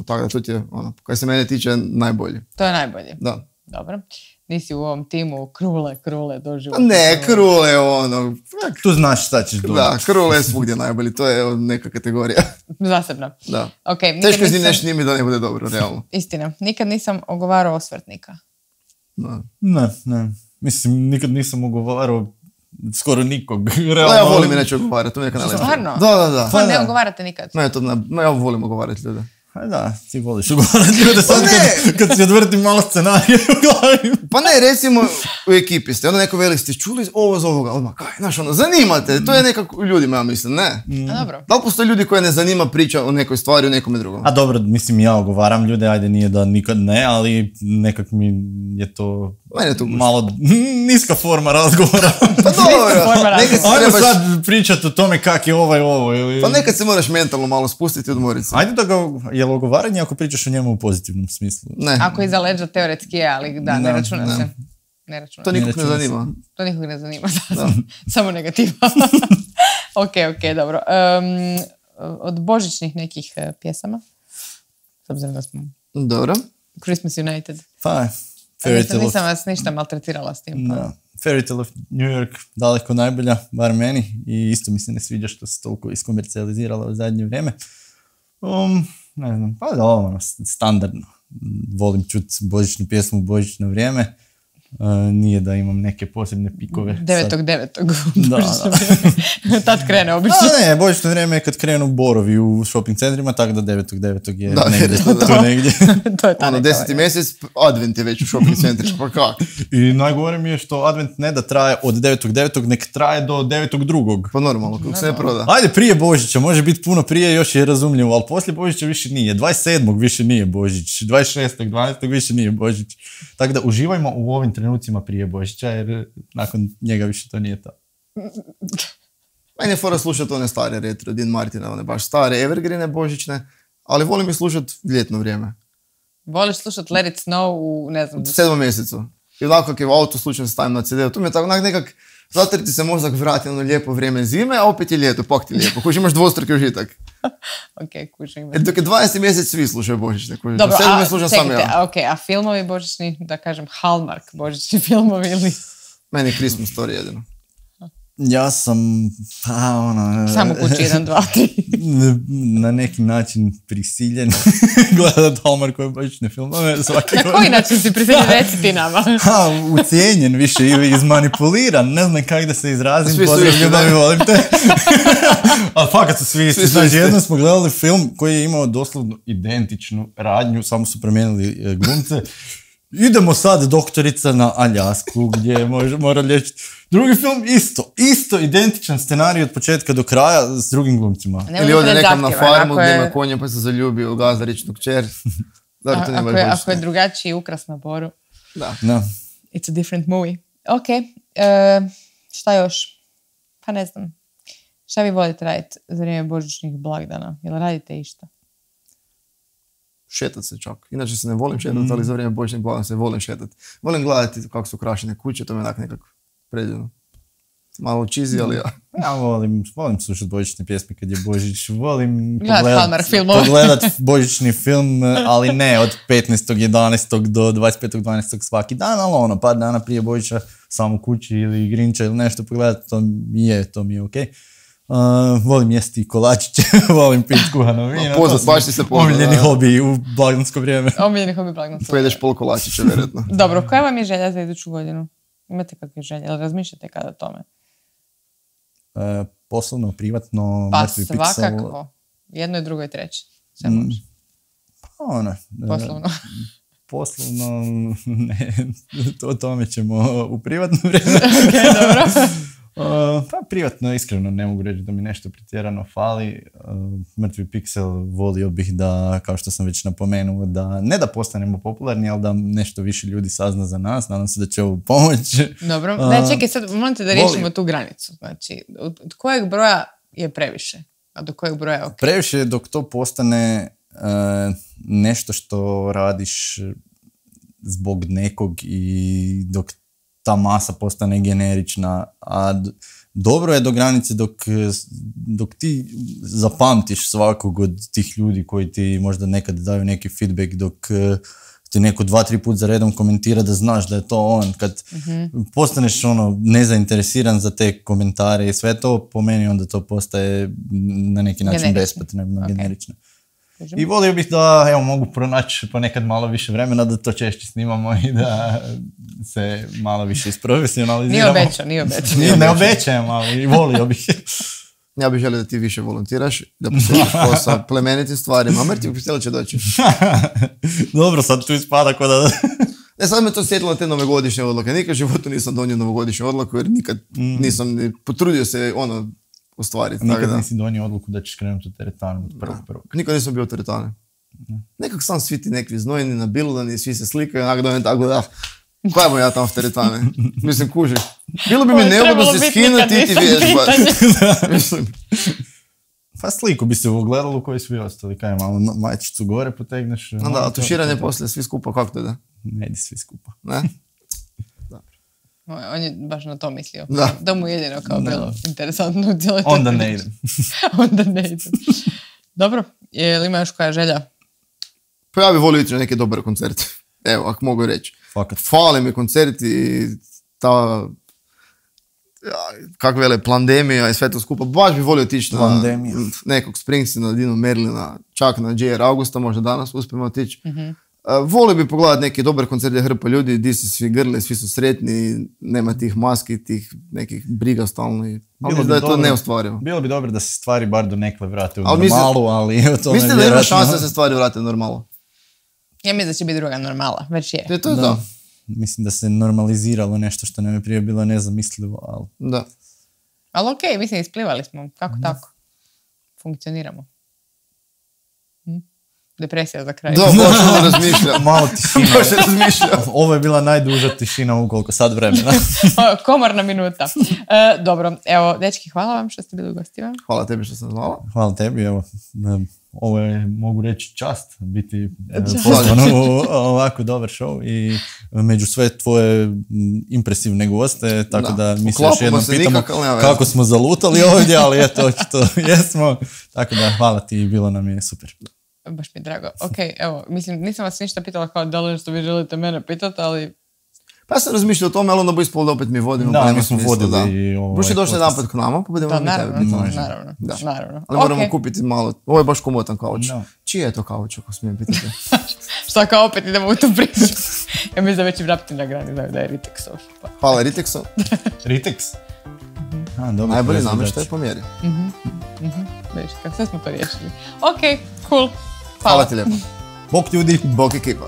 Speaker 3: Tako da to ti je, kaj se mene tiče, najbolje.
Speaker 1: To je najbolje.
Speaker 3: Da.
Speaker 1: Dobro. Nisi u ovom timu krule doživotno.
Speaker 3: Pa ne, Krule je
Speaker 2: Tu znaš šta ćeš dobiti.
Speaker 3: Da, Krule je svugdje najbolji, to je neka kategorija.
Speaker 1: Zasebno.
Speaker 3: Da.
Speaker 1: Okay,
Speaker 3: Teško je neš njimi da ne bude dobro, realno.
Speaker 1: Istina. Nikad nisam ogovarao osvrtnika.
Speaker 3: Da.
Speaker 2: Ne. Mislim, nikad nisam ugovarao skoro nikog.
Speaker 3: Realno, ja volim inače ogovarati, to mi je neka najlepša.
Speaker 1: Stvarno?
Speaker 3: Da.
Speaker 1: Pa ne ogovarate nikad?
Speaker 3: Ne, ja volim ogovarati ljude.
Speaker 2: Da, ti voliš ugovarati ljude sad kad si odvrti malo scenarije u glavi.
Speaker 3: Pa ne, recimo u ekipi ste, onda neko veli ste čuli ovo za ovoga, odmah kaj, znaš zanimate, to je nekako ljudima, ja mislim, ne.
Speaker 1: A dobro.
Speaker 3: Da li postoje ljudi koje ne zanima priča o nekoj stvari, o nekome drugom?
Speaker 2: A dobro, mislim, ja ogovaram ljude, ajde nije da nikad ne, ali nekak mi je to
Speaker 3: Mene je to gusto.
Speaker 2: malo niska forma razgovora.
Speaker 3: Pa dobro, nekad se
Speaker 2: Ajmo
Speaker 3: trebaš,
Speaker 2: sad pričati o tome kak je ovo ili...
Speaker 3: pa nekad se moraš mentalno malo spustiti i odmoriti se.
Speaker 2: Ajde da ga, je li ogovaranje ako pričaš o njemu u pozitivnom smislu?
Speaker 3: Ne,
Speaker 1: Ako iza leđa teoretski je, ali da, ne računa se. Ne računa.
Speaker 3: to nikog ne
Speaker 2: računa se.
Speaker 3: zanima.
Speaker 1: To nikog ne zanima. Samo negativa. Ok, dobro. Od božićnih nekih pjesama, s obzirom da smo
Speaker 3: Dobro.
Speaker 1: Christmas United.
Speaker 2: Pa, Fairy Tale of...
Speaker 1: Nisam vas ništa maltretirala s tim. Pa.
Speaker 2: Da. Fairy Tale of New York daleko najbolja, bar meni, i isto mi se ne sviđa što se toliko iskomercijalizirala u zadnje vrijeme. Ne znam, pa da, standardno. Volim čuti božićnu pjesmu u božićno vrijeme. Nije da imam neke posebne pikove.
Speaker 1: 9.9. Tad krene obično.
Speaker 2: Ne, božićno vrijeme je kad krenu borovi u shopping centrima, tako da 9.9. je
Speaker 3: Da,
Speaker 2: negdje, tu negdje.
Speaker 1: To je ta neka
Speaker 3: 10. mjesec, advent je već u shopping centrima, pa kak?
Speaker 2: I najgore mi je što advent ne da traje od 9.9. nek traje do 9.2.
Speaker 3: Pa normalno, kako se ne proda.
Speaker 2: Ajde, prije Božića, može biti puno prije, još je razumljivo, ali poslije Božića više nije. 27. više nije Božić, 26.12. više nije Božić. Tako da uživajmo u ovim trenucima prije Božića, jer nakon njega više to nije to.
Speaker 3: Meni je fora slušati one stare retro, Dean Martina, one baš stare evergreene božićne, ali volim i slušati ljetno vrijeme.
Speaker 1: Voliš slušat Let It Snow u, ne znam...
Speaker 3: U 7. mjesecu. I onako kak je u autu slučajno stavim na CD-u. Tu mi je tako nekak, zato ti se mozak vrati na ono lijepo vrijeme zime, a opet je ljeto, pak ti je lijepo. Kuži imaš dvostruki užitak.
Speaker 1: Ok, kužim.
Speaker 3: Dok je 20. mjesec svi slušaju božićne. Kuži.
Speaker 1: Dobro,
Speaker 3: 7. mjesec slušam sam
Speaker 1: čekajte,
Speaker 3: ja.
Speaker 1: ok, a filmovi božićni, da kažem Hallmark božićni filmovi ili...
Speaker 3: Meni je Christmas Story jedino.
Speaker 2: Ja sam,
Speaker 1: Samo kući 1, 2, 3.
Speaker 2: na neki način prisiljen gledat Hallmarkove božićne filmove svaki
Speaker 1: Na koji način si prisiljen, reci ti nama?
Speaker 2: Ucijenjen više ili izmanipuliran, ne znam kako da se izrazim,
Speaker 3: Svi su
Speaker 2: pozdrav
Speaker 3: isti,
Speaker 2: ljubavi,
Speaker 3: da.
Speaker 2: volim te. Ali fakat su svi isti.
Speaker 3: Svi su
Speaker 2: Znači,
Speaker 3: isti.
Speaker 2: jednom smo gledali film koji je imao doslovno identičnu radnju, samo su promijenili glumce. Idemo sad doktorica na Aljasku gdje mora liječiti. Drugi film isto identičan scenarij od početka do kraja s drugim glumcima.
Speaker 3: Ili ode nekam na farmu gdje ima konja pa se zaljubio u gazdaričnu kćer. Dobro, to nije baš
Speaker 1: Ako je
Speaker 3: božićno.
Speaker 1: drugačiji ukras na boru,
Speaker 3: Da.
Speaker 2: Da.
Speaker 1: it's a different movie. Ok, šta još? Pa ne znam. Šta vi volite raditi za vrijeme božićnih blagdana? Jel radite išta?
Speaker 3: Šetat se čak. Inače se ne volim šetati, ali za vrijeme božićnih blagdana se volim šetati. Volim gledati kako su ukrašene kuće, to mi je onak nekako predivno. malo cheesy, ali ja.
Speaker 2: Ja volim slušati božićne pjesme kad je Božić, volim
Speaker 1: Hallmark
Speaker 2: pogledat božićni film, ali ne od 15.11. do 25.12. svaki dan, ali ono, par dana prije Božića sam u kući ili Grinča ili nešto pogledat, to mi je okej. Volim jesti kolačiće, volim piti kuhano vino.
Speaker 3: Baš ti se poznat.
Speaker 2: Omiljeni hobi u blagdansko vrijeme.
Speaker 1: Omiljeni hobi blagdansko.
Speaker 3: Pojedeš pol kolačića, vjerojatno.
Speaker 1: Dobro, koja vam je želja za iduću godinu? Imate kakve želje? Ili razmišljate kada o tome?
Speaker 2: Poslovno, privatno,
Speaker 1: Pa
Speaker 2: mrtvi piksel.
Speaker 1: svakako. Jedno i drugo i treće. Sve može. Poslovno.
Speaker 2: Poslovno, ne, o tome ćemo u privatno vrijeme.
Speaker 1: Ok, dobro.
Speaker 2: Pa privatno, iskreno, ne mogu reći da mi nešto pretjerano fali. Mrtvi piksel volio bih da, kao što sam već napomenuo, da ne da postanemo popularni, ali da nešto više ljudi sazna za nas. Nadam se da će ovo pomoći.
Speaker 1: Dobro. Ne, čekaj, sad morate da riješimo tu granicu. Znači, od kojeg broja je previše? A do kojeg broja je ok?
Speaker 2: Previše je dok to postane nešto što radiš zbog nekog i dok ta masa postane generična, a dobro je do granice dok ti zapamtiš svakog od tih ljudi koji ti možda nekad daju neki feedback, dok ti neko 2-3 put za redom komentira da znaš da je to on. Kad postaneš nezainteresiran za te komentare i sve to, po meni onda to postaje na neki način bespotrebno, generično. I volio bih da mogu pronaći ponekad malo više vremena da to češće snimamo i da se malo više isprofesionaliziramo.
Speaker 1: Nije obećao.
Speaker 2: Ne obećajem, ali volio bih.
Speaker 3: Ja bih želio da ti više volontiraš, da posjetiš posao plemenitim stvarima. Mrtvi piksel će doći.
Speaker 2: Dobro, sad tu ispada ko da...
Speaker 3: Ne, sad me to sjetilo te novogodišnje odluke. Nikad u životu nisam donio novogodišnju odluku jer nikad nisam potrudio se ostvariti.
Speaker 2: Nikad nisi donio odluku da ćeš krenuti u teretanu od prvog.
Speaker 3: Nikad nisam bio u teretane. Nekak sam svi ti nekvi znojni na biludani, svi se slikaju, onak dojem tako da, koja mu ja tamo v teretane? Mislim, kužiš. Bilo bi mi neugodno se skinuti i ti vježbati. Mislim.
Speaker 2: Pa sliku bi se ugledalo koji svi ostali, kaj malo majčicu gore potegneš.
Speaker 3: A tuširanje poslije svi skupa, kako to da?
Speaker 2: Ne ide svi skupa.
Speaker 3: Ne?
Speaker 1: On je baš na to mislio.
Speaker 3: Da.
Speaker 1: Da mu jedino kao bilo interesantno u cijeloj
Speaker 2: Onda ne idem.
Speaker 1: Onda ne idem. Dobro, je li ima još koja želja?
Speaker 3: Pa ja bih volio ići na neke dobre koncerte. Evo, ako mogu reći.
Speaker 2: Fakat.
Speaker 3: Fale mi koncerti i ta, kako vele, pandemija i sve to skupa. Baš bih volio otići na nekog Springsteena, Dino Merlina, čak na J.R. Augusta, možda danas uspijemo otići. Volio bi pogledati neke dobre koncerte, hrpa ljudi, di su svi grli, svi su sretni, nema tih maski, tih nekih briga stalno. Ali mislim da je to neostvarivo.
Speaker 2: Bilo bi dobro da se stvari bar do nekle vrate u normalu, ali o tome
Speaker 3: mislite da ima šanse da se stvari vrate u normalu?
Speaker 1: Ja mislim da će biti druga normala, već je.
Speaker 3: To je to.
Speaker 2: Mislim da se normaliziralo nešto što nam je prije bilo nezamislivo, ali...
Speaker 3: Da.
Speaker 1: Ali okej, mislim, isplivali smo. Kako tako? Funkcioniramo. Depresija za kraj.
Speaker 3: Da, baš ono razmišljam.
Speaker 2: Malo tišina.
Speaker 3: Baš razmišljam.
Speaker 2: Ovo je bila najduža tišina u koliko sad vremena.
Speaker 1: Komorna minuta. Dobro, evo, dečki, hvala vam što ste bili u gostima.
Speaker 3: Hvala tebi što sam zvala.
Speaker 2: Hvala tebi, evo. Ovo je, mogu reći, čast biti pozvan u ovako dobar show i među sve tvoje impresivne goste, tako da mi se još jednom pitamo kako smo zalutali ovdje, ali eto, očito jesmo. Tako da, hvala ti i bilo nam je super.
Speaker 1: Baš mi je drago. Ok, evo, mislim, nisam vas ništa pitala kao da li što vi želite mene pitati, ali...
Speaker 3: Pa ja sam razmišljao o tome, ali onda bo ispolo da opet mi vodimo.
Speaker 2: Da, mi smo vodili.
Speaker 3: Buši došli jedan put k nama, pa budemo
Speaker 1: mi tebe pitati. Naravno.
Speaker 3: Ali moramo kupiti malo, ovo je baš komotan kauč. Čiji je to kauč, ako smijem pitati?
Speaker 1: Šta kao opet idemo u tu priču? Ja mislim da već i vrapiti na grani znaju da je Ritexov.
Speaker 3: Hvala Ritexov.
Speaker 2: Ritex?
Speaker 3: Najbolji namještaj po mjeri.
Speaker 1: Vidiš, kako sve smo to riješili. Ok, cool.
Speaker 3: Hvala ti lijepo.
Speaker 2: Bok ljudi.
Speaker 3: Bok ekipa.